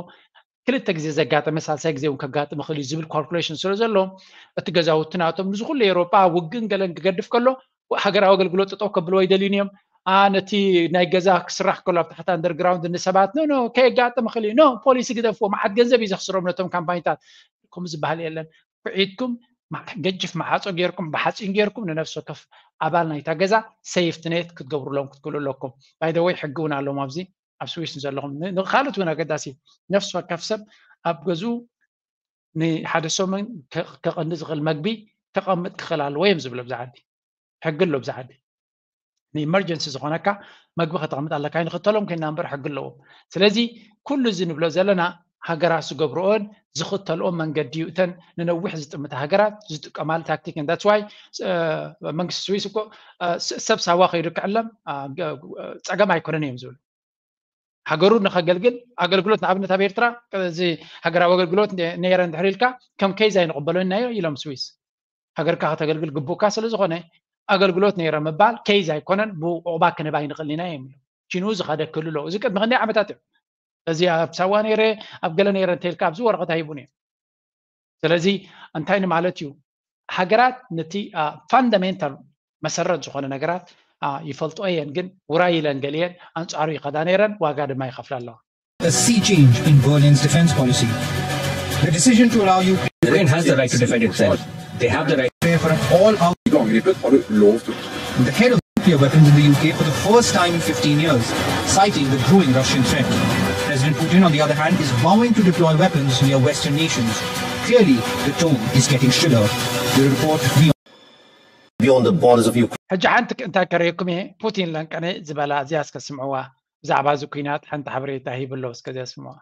ክልተ ግዜ ዘጋጠመ ሳልሳይ ግዜ እውን ከጋጥም ይኽእል እዩ ዝብል ካልኩሌሽን ስለ ዘሎ እቲ ገዛውቲ ናቶም ንዚ ኩሉ ኤውሮጳ ውግእን ገለን ክገድፍ ከሎ ሃገራዊ ኣገልግሎት ጠጠው ከብልዎ ይደልዩን እዮም። ነቲ ናይ ገዛ ክስራሕ ከሎ ኣብ ታሕቲ ኣንደርግራውንድ ንሰባት ኖ ኖ ከየጋጥም ይኽእል እዩ፣ ኖ ፖሊሲ ግደፍዎ፣ መዓት ገንዘብ እዩ ዘኽስሮም ነቶም ካምፓኒታት። ከምኡ ዝበሃል የለን። ኩዒትኩም ገጅፍ መዓፆ ጌርኩም ብሓፂን ጌርኩም ንነፍሲ ወከፍ ኣባል ናይታ ገዛ ሴፍቲ ኔት ክትገብሩሎም ክትክእሉ ኣለኩም። ባይ ዘ ወይ ሕጊ እውን ኣለዎም ኣብዚ ኣብ ስዊስ ንዘለኹም። ንካልኦት እውን ኣገዳሲ፣ ነፍሲ ወከፍ ሰብ ኣብ ገዝኡ ንሓደ ሰሙን ከቐኒ ዝኽእል መግቢ ከቐምጥ ክኽእል ኣለዎ እዮም ዝብሉ ኣብዚ ዓዲ። ሕጊ ኣሎ ኣብዚ ዓዲ። ንኢመርጀንሲ ዝኾነካ መግቢ ከተቐምጥ ኣለካ። ንክተሎም ኮይና እምበር ሕጊ ኣለዎም። ስለዚ ኩሉ እዚ ንብሎ ዘለና ሃገራት ዝገብርኦን ዝኽተልኦ መንገዲ እዩ። እተን ንነዊሕ ዝጥምታ ሃገራት ዝጥቀማሉ ታክቲክ። ዳትስ ዋይ መንግስቲ ስዊስ እኮ ሰብ ሳዋ ከይዱ ክዕለም ፀገም ኣይኮነን እዮም ዝብሉ። ሃገሩ ንኸገልግል ኣገልግሎት ንኣብነት ኣብ ኤርትራ እዚ ሃገራዊ ኣገልግሎት ነይረ እንድሕር ኢልካ ከም ኬዝ ኣይንቕበሎን ኢናዮ ኢሎም ስዊስ። ሃገርካ ከተገልግል ግቡእካ ስለ ዝኾነ ኣገልግሎት ነይረ ምባል ኬዝ ኣይኮነን፣ ብዑቕባ ክንህብ ኣይንኽእልን ኢና እዮም ኢሎም። ቺንኡ ዝኸደ ክህሉ ኣለዎ። እዚ ቅድሚ ክንደይ ዓመታት እዮም። እዚ ኣብ ሳዋ ነይረ ኣብ ገለ ነይረ እንተኢልካ ኣብዚ ወረቐት ኣይቡን እዮም። ስለዚ እንታይ ንማለት እዩ? ሃገራት ነቲ ፋንዳሜንታል መሰረት ዝኾነ ነገራት ይፈልጦ እየን፣ ግን ውራይ ኢለን ገሊአን ኣንጻሩ ይኸዳ ነይረን፣ ዋጋ ድማ ይኸፍላ ኣለዋ። A sea change in Berlin's defense policy. The decision to allow Ukraine Ukraine has the right to defend itself. They have the right. Prepare for an all-out. Angreppet har du lov til. The head of nuclear weapons in the U K for the first time in fifteen years, citing the growing Russian threat. President Putin, on the other hand, is vowing to deploy weapons near Western nations. Clearly, the tone is getting shriller. The report beyond beyond the borders of Ukraine. ሕጂ ሓንቲ እንታይ ከርእየኩም እየ። ፑቲን ለንቀነ ዝበላ እዚኣ እስከ ስምዕዋ። ብዛዕባ እዚ ኩናት ሓንቲ ሓበሬታ ሂብሎ እስከ እዚኣ ስምዕዋ።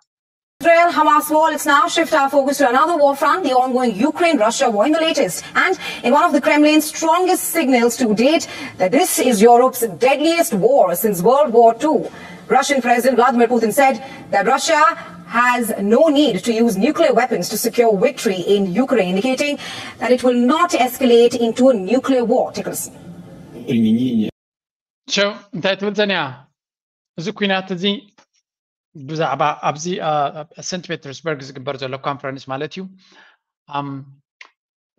Israel Hamas war. Let's now shift our focus to another war front, the ongoing Ukraine Russia war. In the latest, and in one of the Kremlin's strongest signals to date, that this is Europe's deadliest war since World War Two. Russian President Vladimir Putin said that Russia has no need to use nuclear weapons to secure victory in Ukraine, indicating that it will not escalate into a nuclear war. Take a listen. ሸው እንታይ ትብል ዘንያ? እዚ ኩናት እዚ ብዛዕባ ኣብዚ ሰንት ፔተርስበርግ ዝግበር ዘሎ ኮንፈረንስ ማለት እዩ።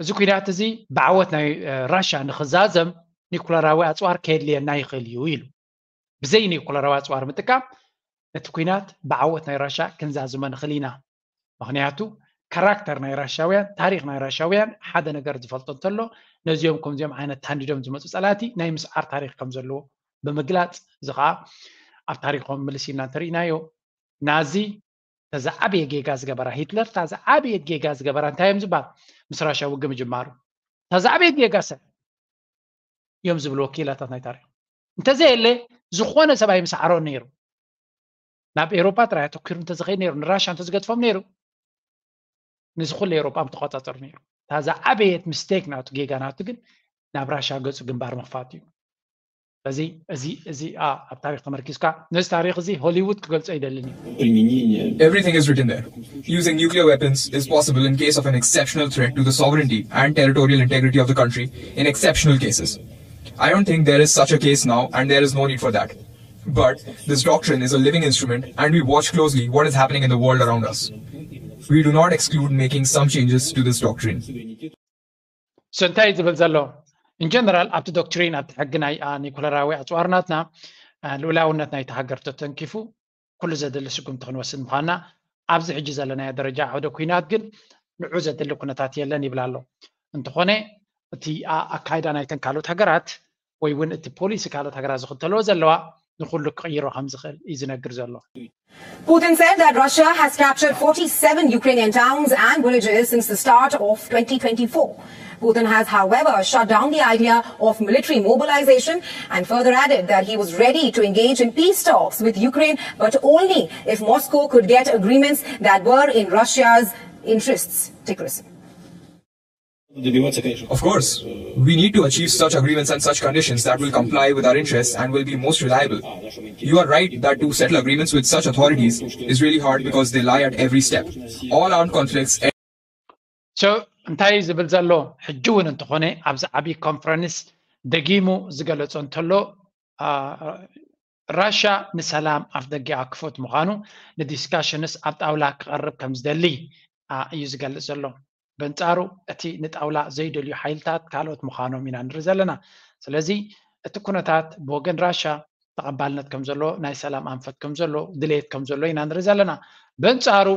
እዚ ኩናት እዚ ብዓወት ናይ ራሻ ንክዛዘም ኒኩለራዊ ኣፅዋር ከየድልየና ይኽእል እዩ ኢሉ። ብዘይ ኒኩለራዊ ኣፅዋር ምጥቃም እቲ ኩናት ብዓወት ናይ ራሻ ክንዛዝሞ ንኽእል ኢና። ምኽንያቱ ካራክተር ናይ ራሻውያን፣ ታሪክ ናይ ራሻውያን ሓደ ነገር ዝፈልጦ እንተሎ ነዚኦም ከምዚኦም ዓይነት ታንዲዶም ዝመፁ ፀላእቲ ናይ ምስዓር ታሪክ ከም ዘለዎ ብምግላፅ፣ እዚ ከዓ ኣብ ታሪኮም ምልስ ኢልና እንተርኢናዮ ናዚ ተዝዓበየ ጌጋ ዝገበራ፣ ሂትለር ተዝዓበየት ጌጋ ዝገበራ እንታይ እዮም ዝበሃል? ምስ ራሻ ውግእ ምጅማሩ ተዝዓበየት ጌጋ ሰብ እዮም ዝብሉ ወኪላታት ናይ ታሪክ። እንተዘየለ ዝኾነ ሰብ ኣይምስዓሮን ነይሩ። ናብ ኤሮፓ ጥራይ ኣተኪሩ እንተዝኸይድ ነይሩ፣ ንራሻ እንተዝገድፎም ነይሩ፣ ንዚ ኩሉ ኤሮፓ ምተቆጻጸሩ ነይሩ። እታ ዝዓበየት ምስቴክ ናቱ፣ ጌጋ ናቱ ግን ናብ ራሻ ገጹ ግንባር ምኽፋት እዩ። ስለዚ እዚ እዚ ኣብ ታሪክ ተመርኪዝካ ነዚ ታሪክ እዚ ሆሊውድ ክገልጾ ይደልን እዩ። Everything is written there. Using nuclear weapons is possible in case of an exceptional threat to the sovereignty and territorial integrity of the country in exceptional cases. I don't think there is such a case now, and there is no need for that. But this doctrine is a living instrument, and we watch closely what is happening in the world around us. We do not exclude making some changes to this doctrine. So እንታይ እዩ ዝብል ዘሎ? In general ኣብቲ ዶክትሪን፣ ኣብቲ ሕጊ ናይ ኒኩለራዊ ኣፅዋር ናትና ልኡላውነት ናይቲ ሃገር ተተንኪፉ ኩሉ ዘድሊ ስጉምቲ ክንወስድ ምዃንና፣ ኣብዚ ሕጂ ዘለናዮ ደረጃ ዓውደ ኩናት ግን ንዑ ዘድሊ ኩነታት የለን ይብል ኣሎ። እንተኾነ እቲ ኣካይዳ ናይተን ካልኦት ሃገራት ወይ እውን እቲ ፖሊሲ ካልኦት ሃገራት ዝኽተልዎ ዘለዋ ንኩሉ ክቕይሮ ከም ዝኽእል እዩ ዝነግር ዘሎ። Putin said that Russia has captured forty-seven Ukrainian towns and villages since the start of twenty twenty-four. Putin has, however, shut down the idea of military mobilization and further added that he was ready to engage in peace talks with Ukraine, but only if Moscow could get agreements that were in Russia's interests. Take a listen. Of course, we need to achieve such agreements and such conditions that will comply with our interests and will be most reliable. You are right that to settle agreements with such authorities is really hard because they lie at every step. All armed conflicts So እንታይ እዩ ዝብል ዘሎ? ሕጂ እውን እንተኾነ ኣብዚ ዓብዪ ኮንፈረንስ ደጊሙ ዝገለጾ እንተሎ፣ ራሻ ንሰላም ኣፍ ደጊኣ ክፉት ምዃኑ፣ ንዲስካሽንስ ኣብ ጣውላ ክቐርብ ከም ዝደሊ እዩ ዝገልጽ ዘሎ። በንጻሩ እቲ ንጣውላ ዘይደልዩ ሓይልታት ካልኦት ምዃኖም ኢና ንርኢ ዘለና። ስለዚ እቲ ኩነታት ብወገን ራሻ ተቐባልነት ከም ዘለዎ፣ ናይ ሰላም ኣንፈት ከም ዘሎ፣ ድሌት ከም ዘሎ ኢና ንርኢ ዘለና። በንጻሩ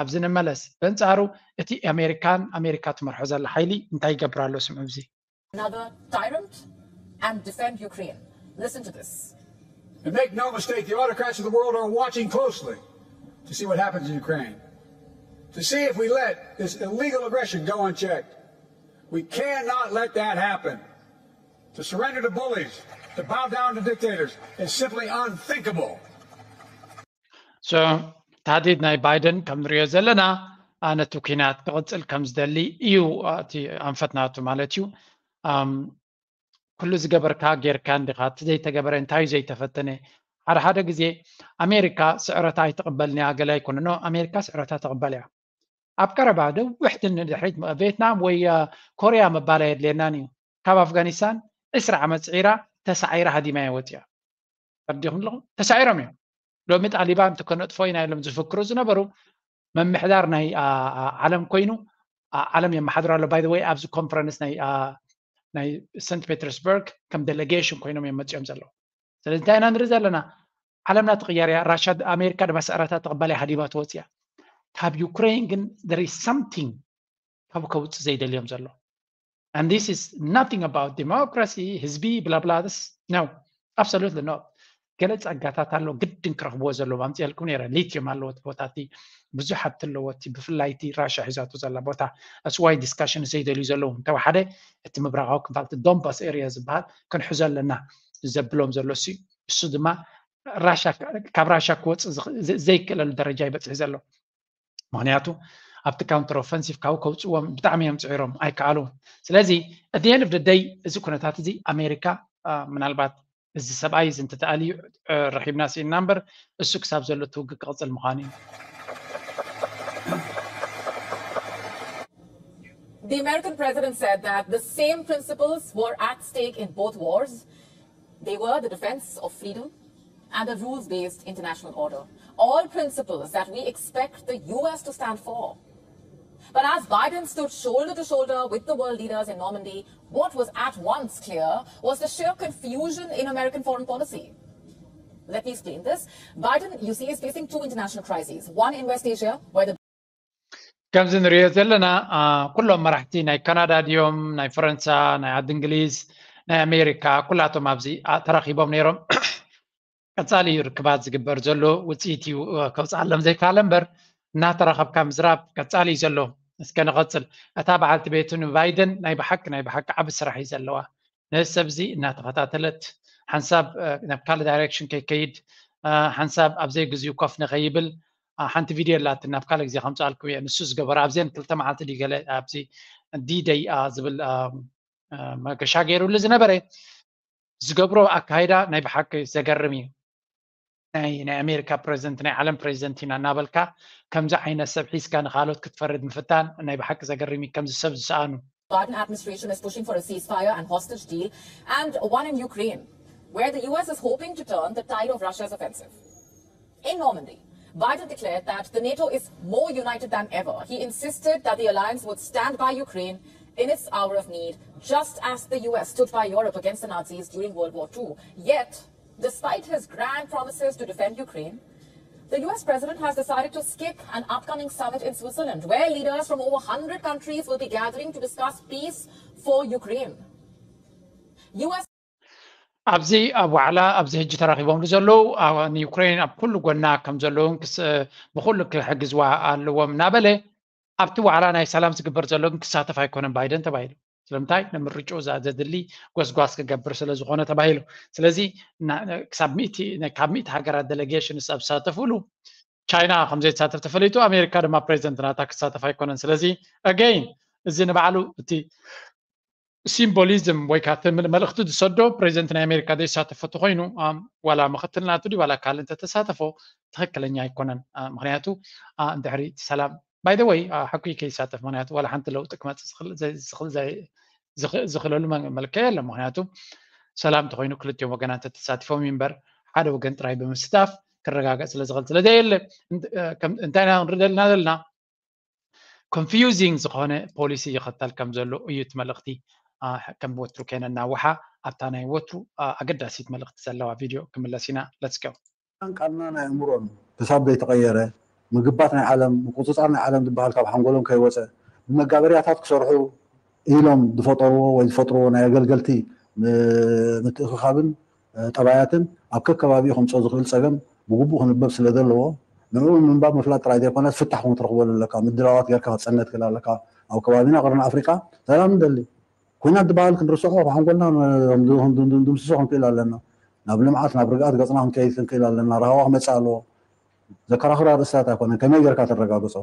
ኣብዚ ንመለስ። በንጻሩ እቲ ኣሜሪካን ኣሜሪካ ትመርሖ ዘላ ሓይሊ እንታይ ይገብር ኣሎ? ስምዑ ኣብዚ። Another tyrant and defend Ukraine. Listen to this. And make no mistake, the autocrats of the world are watching closely to see what happens in Ukraine, to see if we let this illegal aggression go unchecked. We cannot let that happen. To surrender to bullies, to bow down to dictators is simply unthinkable. So ታህዲድ ናይ ባይደን ከም ንሪኦ ዘለና ነቲ ኩናት ክቕጽል ከም ዝደሊ እዩ እቲ ኣንፈት ናቱ ማለት እዩ። ኩሉ ዝገበርካ ጌርካ እንዲኻ፣ እቲ ዘይተገበረ እንታይ እዩ ዘይተፈተነ? ሓደ ሓደ ግዜ ኣሜሪካ ስዕረታ ኣይትቕበልን እያ፣ ገለ ኣይኮነ። ኖ፣ ኣሜሪካ ስዕረታ ትቕበል እያ። ኣብ ቀረባ ነዊሕ ንድሕሪት ቬትናም ወይ ኮርያ ምባል ኣየድልየናን እዩ። ካብ ኣፍጋኒስታን ዕስራ ዓመት ስዒራ ተሳዒራ ሃዲማ እያ ወፂኣ። ተረዲኹም ኣለኹም? ተሳዒሮም እዮም። ሎሚ ጣሊባን ከነጥፎ ኢና ኢሎም ዝፍክሩ ዝነበሩ መምሕዳር ናይ ዓለም ኮይኑ ዓለም የመሓድሮ ኣሎ። By the way ኣብዚ ኮንፈረንስ ናይ ናይ ሰንት ፔተርስበርግ ከም ዴሌጌሽን ኮይኖም እዮም መፂኦም ዘለዉ። ስለዚ እንታይ ኢና ንርኢ ዘለና? ዓለምና ትቕየር እያ። ራሻ ኣሜሪካ ድማ ስዕረታ ትቕበል እያ፣ ሃዲማ ትወፅእ እያ። ካብ ዩክሬን ግን there is something ካብ ከውፅእ ዘይደልዮም ዘሎ and this is nothing about democracy ህዝቢ ብላብላስ no absolutely not። ገለ ጸጋታት ኣሎ ግድን ክረኽብዎ ዘለዎም ኣምፅኤልኩም ነረ። ሊትዮም ኣለዎ እቲ ቦታ እቲ ብዙሕ ሃብቲ ኣለዎ እቲ ብፍላይ እቲ ራሻ ሒዛቶ ዘላ ቦታ that's why discussion ዘይደልዩ ዘለዉ እንተወሓደ እቲ ምብራቃዊ ክፋል እቲ ዶንባስ ኤርያ ዝበሃል ክንሕዞ ኣለና ዘብሎም ዘሎ እሱ እሱ ድማ ራሻ ካብ ራሻ ክወፅእ ዘይክእለሉ ደረጃ ይበፅሕ ዘሎ። ምክንያቱ ኣብቲ counter offensive ካብኡ ከውፅዎም ብጣዕሚ እዮም ፅዒሮም ኣይከኣሉን። ስለዚ at the end of the day እዚ ኩነታት እዚ ኣሜሪካ ምናልባት እዚ ሰብኣይ እዚ እንተተኣልዩ ረኺብና ስኢንና እምበር እሱ ክሳብ ዘሎ እቲ ውግእ ክቕፅል ምዃኑ እዩ። The American president said that the same principles were at stake in both wars. They were the defense of freedom and a rules-based international order. All principles that we expect the U S to stand for. But as Biden stood shoulder to shoulder with the world leaders in Normandy, what was at once clear was the sheer confusion in American foreign policy. Let me explain this. Biden, you see, is facing two international crises. One in West Asia, where the ከምዚ ንሪኦ ዘለና ኩሎም መራሕቲ ናይ ካናዳ ድዮም ናይ ፈረንሳ ናይ ዓዲ እንግሊዝ ናይ ኣሜሪካ ኩላቶም ኣብዚ ተራኺቦም ነይሮም። ቀፃሊ እዩ ርክባት ዝግበር ዘሎ ውፅኢት እዩ ከውፅኣሎም ዘይከኣለ እምበር እናተራኸብካ ምዝራብ ቀፃሊ እዩ ዘሎ። እስከ ንቐፅል። እታ በዓልቲ ቤቱ ንባይደን ናይ ብሓቂ ናይ ብሓቂ ዓቢ ስራሕ እዩ ዘለዋ። ነዚ ሰብ እዚ እናተኸታተለት ሓንሳብ ናብ ካልእ ዳይሬክሽን ከይከይድ ሓንሳብ ኣብ ዘይግዚኡ ኮፍ ንኸይብል ሓንቲ ቪድዮ ኣላትን ናብ ካልእ ግዜ ከምፅኣልኩም እየ። ንሱ ዝገበሮ ኣብዚአን ክልተ መዓልቲ ድዩ ገለ ኣብዚ ዲደይ ዝብል መገሻ ገይሩሉ ዝነበረ ዝገብሮ ኣካይዳ ናይ ብሓቂ ዘገርም እዩ። ናይ ናይ ኣሜሪካ ፕሬዚደንት ናይ ዓለም ፕሬዚደንት ኢና እናበልካ ከምዚ ዓይነት ሰብ ሒዝካ ንካልኦት ክትፈርድ ምፍታን ናይ ብሓቂ ዘገርም እዩ። ከምዚ ሰብ ዝሰኣኑ Biden administration is pushing for a ceasefire and hostage deal and one in Ukraine, where the U S is hoping to turn the tide of Russia's offensive. In Normandy, Biden declared that the NATO is more united than ever. He insisted that the alliance would stand by Ukraine in its hour of need, just as the U S stood by Europe against the Nazis during World War Two. Yet, despite his grand promises to defend Ukraine, the U S president has decided to skip an upcoming summit in Switzerland, where leaders from over one hundred countries will be gathering to discuss peace for Ukraine. U S ኣብዚ ኣብ ዋዕላ ኣብዚ ሕጂ ተራኺቦምሉ ዘለዉ ንዩክሬን ኣብ ኩሉ ጎና ከም ዘለውን ብኩሉ ክሕግዝዋ ኣለዎም እናበለ ኣብቲ ዋዕላ ናይ ሰላም ዝግበር ዘሎ ግን ክሳተፍ ኣይኮነን ባይደን ተባሂሉ። ስለምንታይ ንምርጭኡ ዘድሊ ጎስጓስ ክገብር ስለ ዝኾነ ተባሂሉ። ስለዚ ካብ ሚእቲ ሃገራት ዴሌጌሽንስ ኣብ ዝሳተፍሉ ቻይና ከም ዘይትሳተፍ ተፈሊጡ፣ ኣሜሪካ ድማ ፕሬዚደንት ናታ ክሳተፍ ኣይኮነን። ስለዚ again እዚ ንባዕሉ እቲ ሲምቦሊዝም ወይ ከዓ እቲ መልእኽቲ ዝሰዶ ፕሬዚደንት ናይ ኣሜሪካ ዘይሳተፎ ተኮይኑ ዋላ ምክትል ናቱ ድዩ ዋላ ካልእ እንተተሳተፎ ትክክለኛ ኣይኮነን። ምክንያቱ እንድሕሪ ሰላም by the way ሓኩይ ከይሳተፍ ምክንያቱ ዋላ ሓንቲ ለውጢ ክመፅእ ዝኽእለሉ መልክዕ የለን። ምክንያቱ ሰላም ተኮይኑ ክልቲኦም ወገናት ተተሳቲፎም እዩ እምበር ሓደ ወገን ጥራይ ብምስታፍ ክረጋገፅ ስለዝኽእል ስለዘየለ እንታይ ኢና ንርኢ ዘለና ዘለና confusing ዝኾነ ፖሊሲ ይኸተል ከም ዘሎ እዩ እቲ መልእኽቲ። ከም ወትሩ ከይነናውሓ ኣብታ ናይ ወትሩ ኣገዳሲት መልእኽቲ ዘለዋ ቪድዮ ክምለስ ኢና። Let's go። ቃልና ናይ ኣእምሮን ክሳብ ዘይተቐየረ ምግባት ናይ ዓለም ምቁፅፃር ናይ ዓለም ዝበሃል ካብ ሓንጎሎም ከይወፀ ብመጋበርያታት ክሰርሑ ኢሎም ዝፈጠርዎ ወይ ዝፈጥርዎ ናይ ኣገልገልቲ ምትእኽኻብን ጠባያትን ኣብ ከከባቢኡ ከምፅኦ ዝኽእል ፀገም ብግቡእ ክንበብ ስለ ዘለዎ ንዕኡ ንምንባብ ምፍላጥ ጥራይ ዘይኮነስ ፍታሕ እውን ክትረኽበሉ ኣለካ። ምድላዋት ጌርካ ክትፀነ ትኽእል ኣለካ። ኣብ ከባቢና ቅርኒ ኣፍሪቃ ሰላም ንደሊ። ኩናት ዝበሃል ክንርስዖ ካብ ሓንጎልና ድምስሶ ክንክእል ኣለና። ናብ ልምዓት ናብ ርግኣት ገፅና ክንከይድ ክንክእል ኣለና። ራህዋ ክመፅእ ኣለዎ። ዘከራኽር ኣርእስታት ኣይኮነን። ከመይ ጌርካ ተረጋግፆ?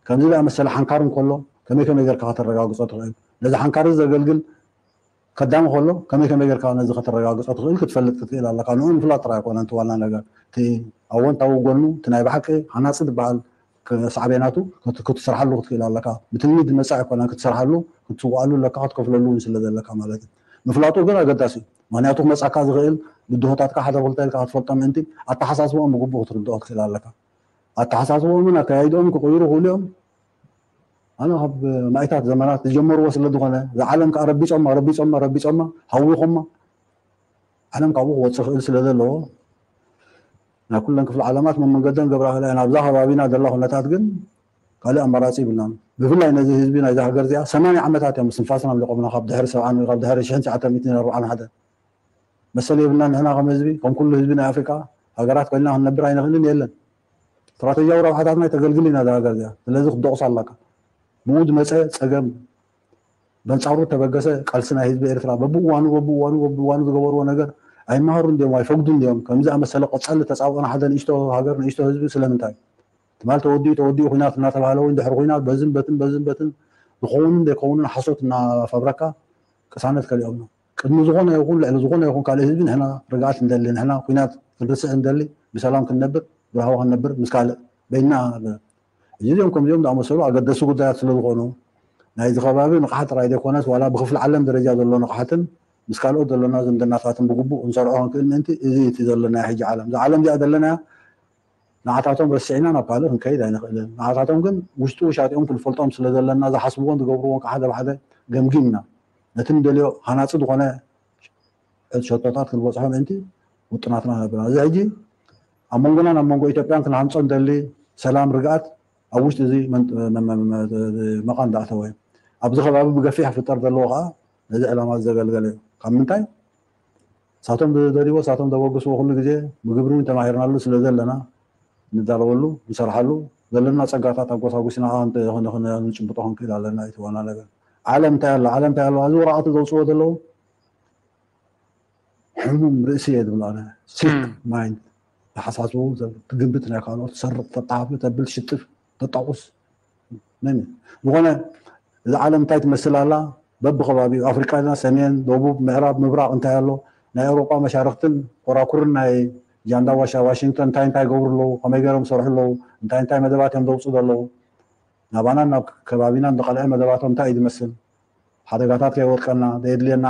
ከምዚ ዝኣመሰለ ሓንካር እንከሎ ከመይ ከመይ ጌርካ ከተረጋግፆ ትኽእል? ነዚ ሓንካር እዚ ዘገልግል ከዳሚ ከሎ ከመይ ከመይ ጌርካ ነዚ ከተረጋግፆ ትኽእል ክትፈልጥ ክትክእል ኣለካ። ንኡ ምፍላጥ ጥራይ ኣይኮነን እቲ ዋና ነገር። እቲ ኣወንታዊ ጎኑ እቲ ናይ ብሓቂ ሃናፂ ዝበሃል ሳዕቤናቱ ክትሰርሓሉ ክትክእል ኣለካ። ብትልሚ ዝመፅእ ኣይኮነን ክትሰርሓሉ ክትስዋኣሉ ኣለካ ክትከፍለሉ እውን ስለ ዘለካ ማለት እዩ። ምፍላጡ ግን ኣገዳሲ እዩ። ምክንያቱ ክመፃካ ዝኽእል ብድሆታትካ ሓደ ክልተ ኢልካ ክትፈልጦ ምእንቲ ኣተሓሳስቦኦም ብግቡእ ክትርድኦ ክትክእል ኣለካ። ኣተሓሳስቦኦምን ኣካያይድኦም ክቕይሩ ክኽእሉ እዮም። ኣነ ካብ ማይታት ዘመናት ዝጀመርዎ ስለ ዝኾነ ዝዓለም ከዓ ረቢፆማ ረቢፆማ ረቢፆማ ሃዊኾማ ዓለም ካብኡ ክወፅእ ክእል ስለ ዘለዎ ናይ ኩለን ክፍለ ዓለማት መመንገደን ገብራ ክእላ እየን። ኣብዛ ከባቢና ዘላ ኩነታት ግን ካልእ ኣማራፂ ይብልናን። ብፍላይ ነዚ ህዝቢ ናይዚ ሃገር እዚኣ ሰማንያ ዓመታት እዮም ስንፋስና ኣምሊቆምና፣ ካብ ድሕሪ ሰብዓን ካብ ድሕሪ ሽሕን ትሽዓተ ሚእትን ኣርባዓን ሓደን። መሰል የብልና ንሕና ከም ህዝቢ፣ ከም ኩሉ ህዝቢ ናይ ኣፍሪቃ ሃገራት ኮይንና ክንነብር ኣይንኽእልን። የለን፣ ስትራተጂያዊ ረብሓታትና ተገልግል ኢና እዛ ሃገር እዚኣ። ስለዚ ክትደቑስ ኣለካ። ብኡ ዝመፀ ፀገም በንፃሩ ተበገሰ ቃልሲ ናይ ህዝቢ ኤርትራ በብእዋኑ በብእዋኑ በብእዋኑ ዝገበርዎ ነገር ኣይመሃሩ እንዲዮም፣ ኣይፈግዱ እንዲዮም። ከምዚ ኣመሰለ ቀፃሊ ተፃብኦና ሓደ ንእሽቶ ሃገር ንእሽቶ ህዝቢ ስለምንታይ? ትማል ተወዲኡ ተወዲኡ ኩናት እናተባህለ እውን ድሕሪ ኩናት በዝን በትን በዝን በትን ዝኸውንን ዘይከውንን ሓሶት እናፈብረካ ቅሳነት ከሊኦም ነው። ቅድሚ ዝኾነ ይኹን ልዕሊ ዝኾነ ይኹን ካልእ ህዝቢ ንሕና ርግኣት እንደሊ፣ ንሕና ኩናት ክንርስዕ እንደሊ፣ ብሰላም ክንነብር ብራህዋ ክንነብር ምስ ካልእ በይና። ሕጂ እዚኦም ከምዚኦም ዝኣመሰሉ ኣገደሲ ጉዳያት ስለ ዝኾኑ ናይዚ ከባቢ ንቕሓት ጥራይ ዘይኮነስ ዋላ ብክፍሊ ዓለም ደረጃ ዘሎ ንቕሓትን ምስ ካልኦት ዘለና ዝምድናታትን ብግቡእ ክንሰርዖ ክንክእል ምእንቲ እዚ እቲ ዘለና ሕጂ ዓለም እዛ ዓለም እዚኣ ዘለናያ ንዓታቶም ረሲዕና ናብ ካልእ ክንከይድ ኣይንኽእልን። ንዓታቶም ግን ውሽጡ ውሻጢኦም ክንፈልጦም ስለ ዘለና ዝሓስብዎን ዝገብርዎን ከዓ ሓደ ብሓደ ገምጊምና ነቲ ንደልዮ ሃናፂ ዝኾነ ሸቶታት ክንበፅሖ ምእንቲ ውጥናትና ነብና። እዚ ሕጂ ኣብ መንጎናን ኣብ መንጎ ኢትዮጵያን ክንሃንፆ ንደሊ ሰላም ርግኣት ኣብ ውሽጢ እዚ መን- መ- መ- መ- መቓን ዝኣተወ እዩ። ኣብዚ ከባቢ ብገፊሕ ክፍጠር ዘለዎ ከዓ ነዚ ዕላማ ዘገልገለ እዩ። ካብ ምንታይ ሳቶም ዝደልይዎ ሳቶም ዘበግስዎ ኩሉ ግዜ ብግብሪ እውን ተማሂርናሉ ስለ ዘለና ንዳለወሉ ንሰርሓሉ ዘለና ፀጋታት ኣጎሳጉስና ከዓ ክንተ- ክንተ- ክንጭብጦ ክንክእል ኣለና። እቲ ዋና ነገር ዓለም እንታይ ኣሎ ዓለም እንታይ ኣሎ ኣብዚ ወረቃቱ ዘውፅዎ ዘለዉ ሕሙም ርእሲ እየ ዝብሎ ኣነ። ሲክ ማይንድ ተሓሳስቡ ትግምት ናይ ካልኦት ትሰርቅ ተጣፍ ተብል ሽጥፍ ተጣቁስ መን እዩ? ዝኾነ እዚ ዓለም እንታይ ትመስል ኣላ በብከባቢኡ ኣፍሪቃ ና ሰሜን ደቡብ ምዕራብ ምብራቅ እንታይ ኣሎ ናይ ኣውሮጳ መሻርክትን ኮራኩርን ናይ ጃንዳ ዋሻ ዋሽንግተን እንታይ እንታይ ይገብሩ ኣለዉ ከመይ ገይሮም ይሰርሑ ኣለዉ እንታይ እንታይ መደባት እዮም ዘውፅኡ ዘለዉ ናባናን ናብ ከባቢናን ዝቐልዐ መደባቶም እንታይ እዩ ዝመስል ሓደጋታት ከይወድቀና ዘየድልየና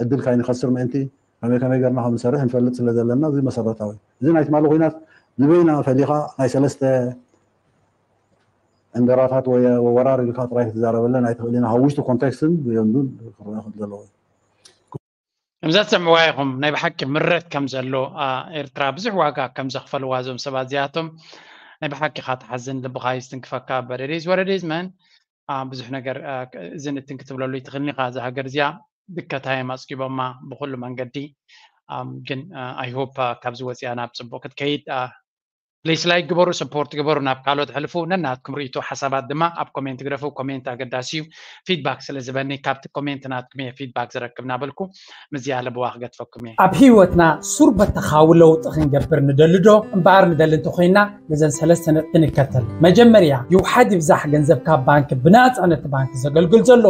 ዕድል ካይንኸስር ምእንቲ ከመይ ከመይ ገርና ከም ንሰርሕ ንፈልጥ ስለ ዘለና እዚ መሰረታዊ እዚ ናይ ትማሊ ኩናት ንበይና ፈሊኻ ናይ ሰለስተ ዕንደራታት ወይ ወራር ኢልካ ጥራይ ክትዛረበለን ኣይትኽእልን ካብ ውሽጢ ኮንቴክስትን ብዮንዱን ክረአ ከም ዘለዎ እዩ። ከምዛ ትሰምዕዋ ኢኹም ናይ ብሓቂ ምረት ከም ዘሎ ኤርትራ ብዙሕ ዋጋ ከም ዘኽፈልዋ እዞም ሰባት እዚኣቶም ናይ ብሓቂ ካ ትሓዝን ልብኻ ይስትንክፈካ በደዴዝ ወረዴዝ መን ብዙሕ ነገር እዝን እትን ክትብለሉ ይትኽእልኒ ካ እዛ ሃገር እዚኣ ድከታዮም ኣፅጊቦማ ብኩሉ መንገዲ ግን ኣይሆፕ ካብዚ ወፂኣ ናብ ፅቡቅ ክትከይድ ፕሊስ ላይክ ግበሩ ሰፖርት ግበሩ ናብ ካልኦት ሕልፉ ነናትኩም ርእይቶ ሓሳባት ድማ ኣብ ኮሜንት ግደፉ ኮሜንት ኣገዳሲ እዩ ፊድባክ ስለ ዝበኒ ካብቲ ኮሜንት ናትኩም እየ ፊድባክ ዝረክብ ናበልኩ ምዝያ ለብዋ ክገትፈኩም እየ ኣብ ህይወትና ሱር በተኻዊ ለውጢ ክንገብር ንደሊ ዶ እምበኣር ንደሊ እንተኮይና ነዘን ሰለስተ ነጥቢ ንከተል መጀመርያ ይውሓድ ይብዛሕ ገንዘብካ ባንክ ብናፃ ነቲ ባንክ ዘገልግል ዘሎ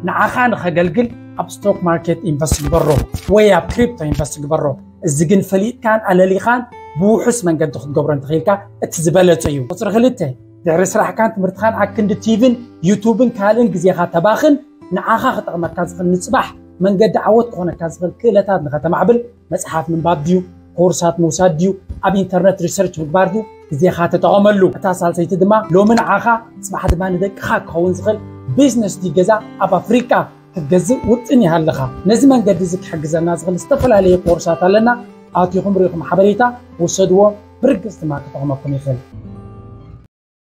ንዓኻ ንኸገልግል ኣብ ስቶክ ማርኬት ኢንቨስት ግበሮ ወይ ኣብ ክሪፕቶ ኢንቨስት ግበሮ እዚ ግን ፈሊጥካን ኣለሊኻን ብውሑስ መንገዲ ክትገብሮ እንተኽኢልካ እቲ ዝበለፀ እዩ። ቁፅሪ ክልተ ድሕሪ ስራሕካን ትምህርትኻን ኣክንዲ ቲቪን ዩቱብን ካልእን ግዜኻ ተባኽን ንዓኻ ክጠቕመካ ዝኽእል ንፅባሕ መንገዲ ዓወት ክኾነካ ዝኽእል ክእለታት ንኸተማዕብል መፅሓፍ ምንባብ ድዩ ኮርሳት ምውሳድ ድዩ ኣብ ኢንተርነት ሪሰርች ምግባር ድዩ ግዜኻ ተጠቐመሉ። እታ ሳልሰይቲ ድማ ሎሚ ንዓኻ ፅባሕ ድማ ንደቅኻ ክኸውን ዝኽእል ቢዝነስ ድዩ ገዛ ኣብ ኣፍሪቃ ክትገዝእ ውጥን ይሃልኻ። ነዚ መንገዲ እዚ ክሕግዘና ዝኽእል ዝተፈላለየ ኮርሳት ኣለና። ኣቲኹም ርኢኹም ሓበሬታ ውሰድዎ፣ ብርግጽ ድማ ክጠቕመኩም ይኽእል።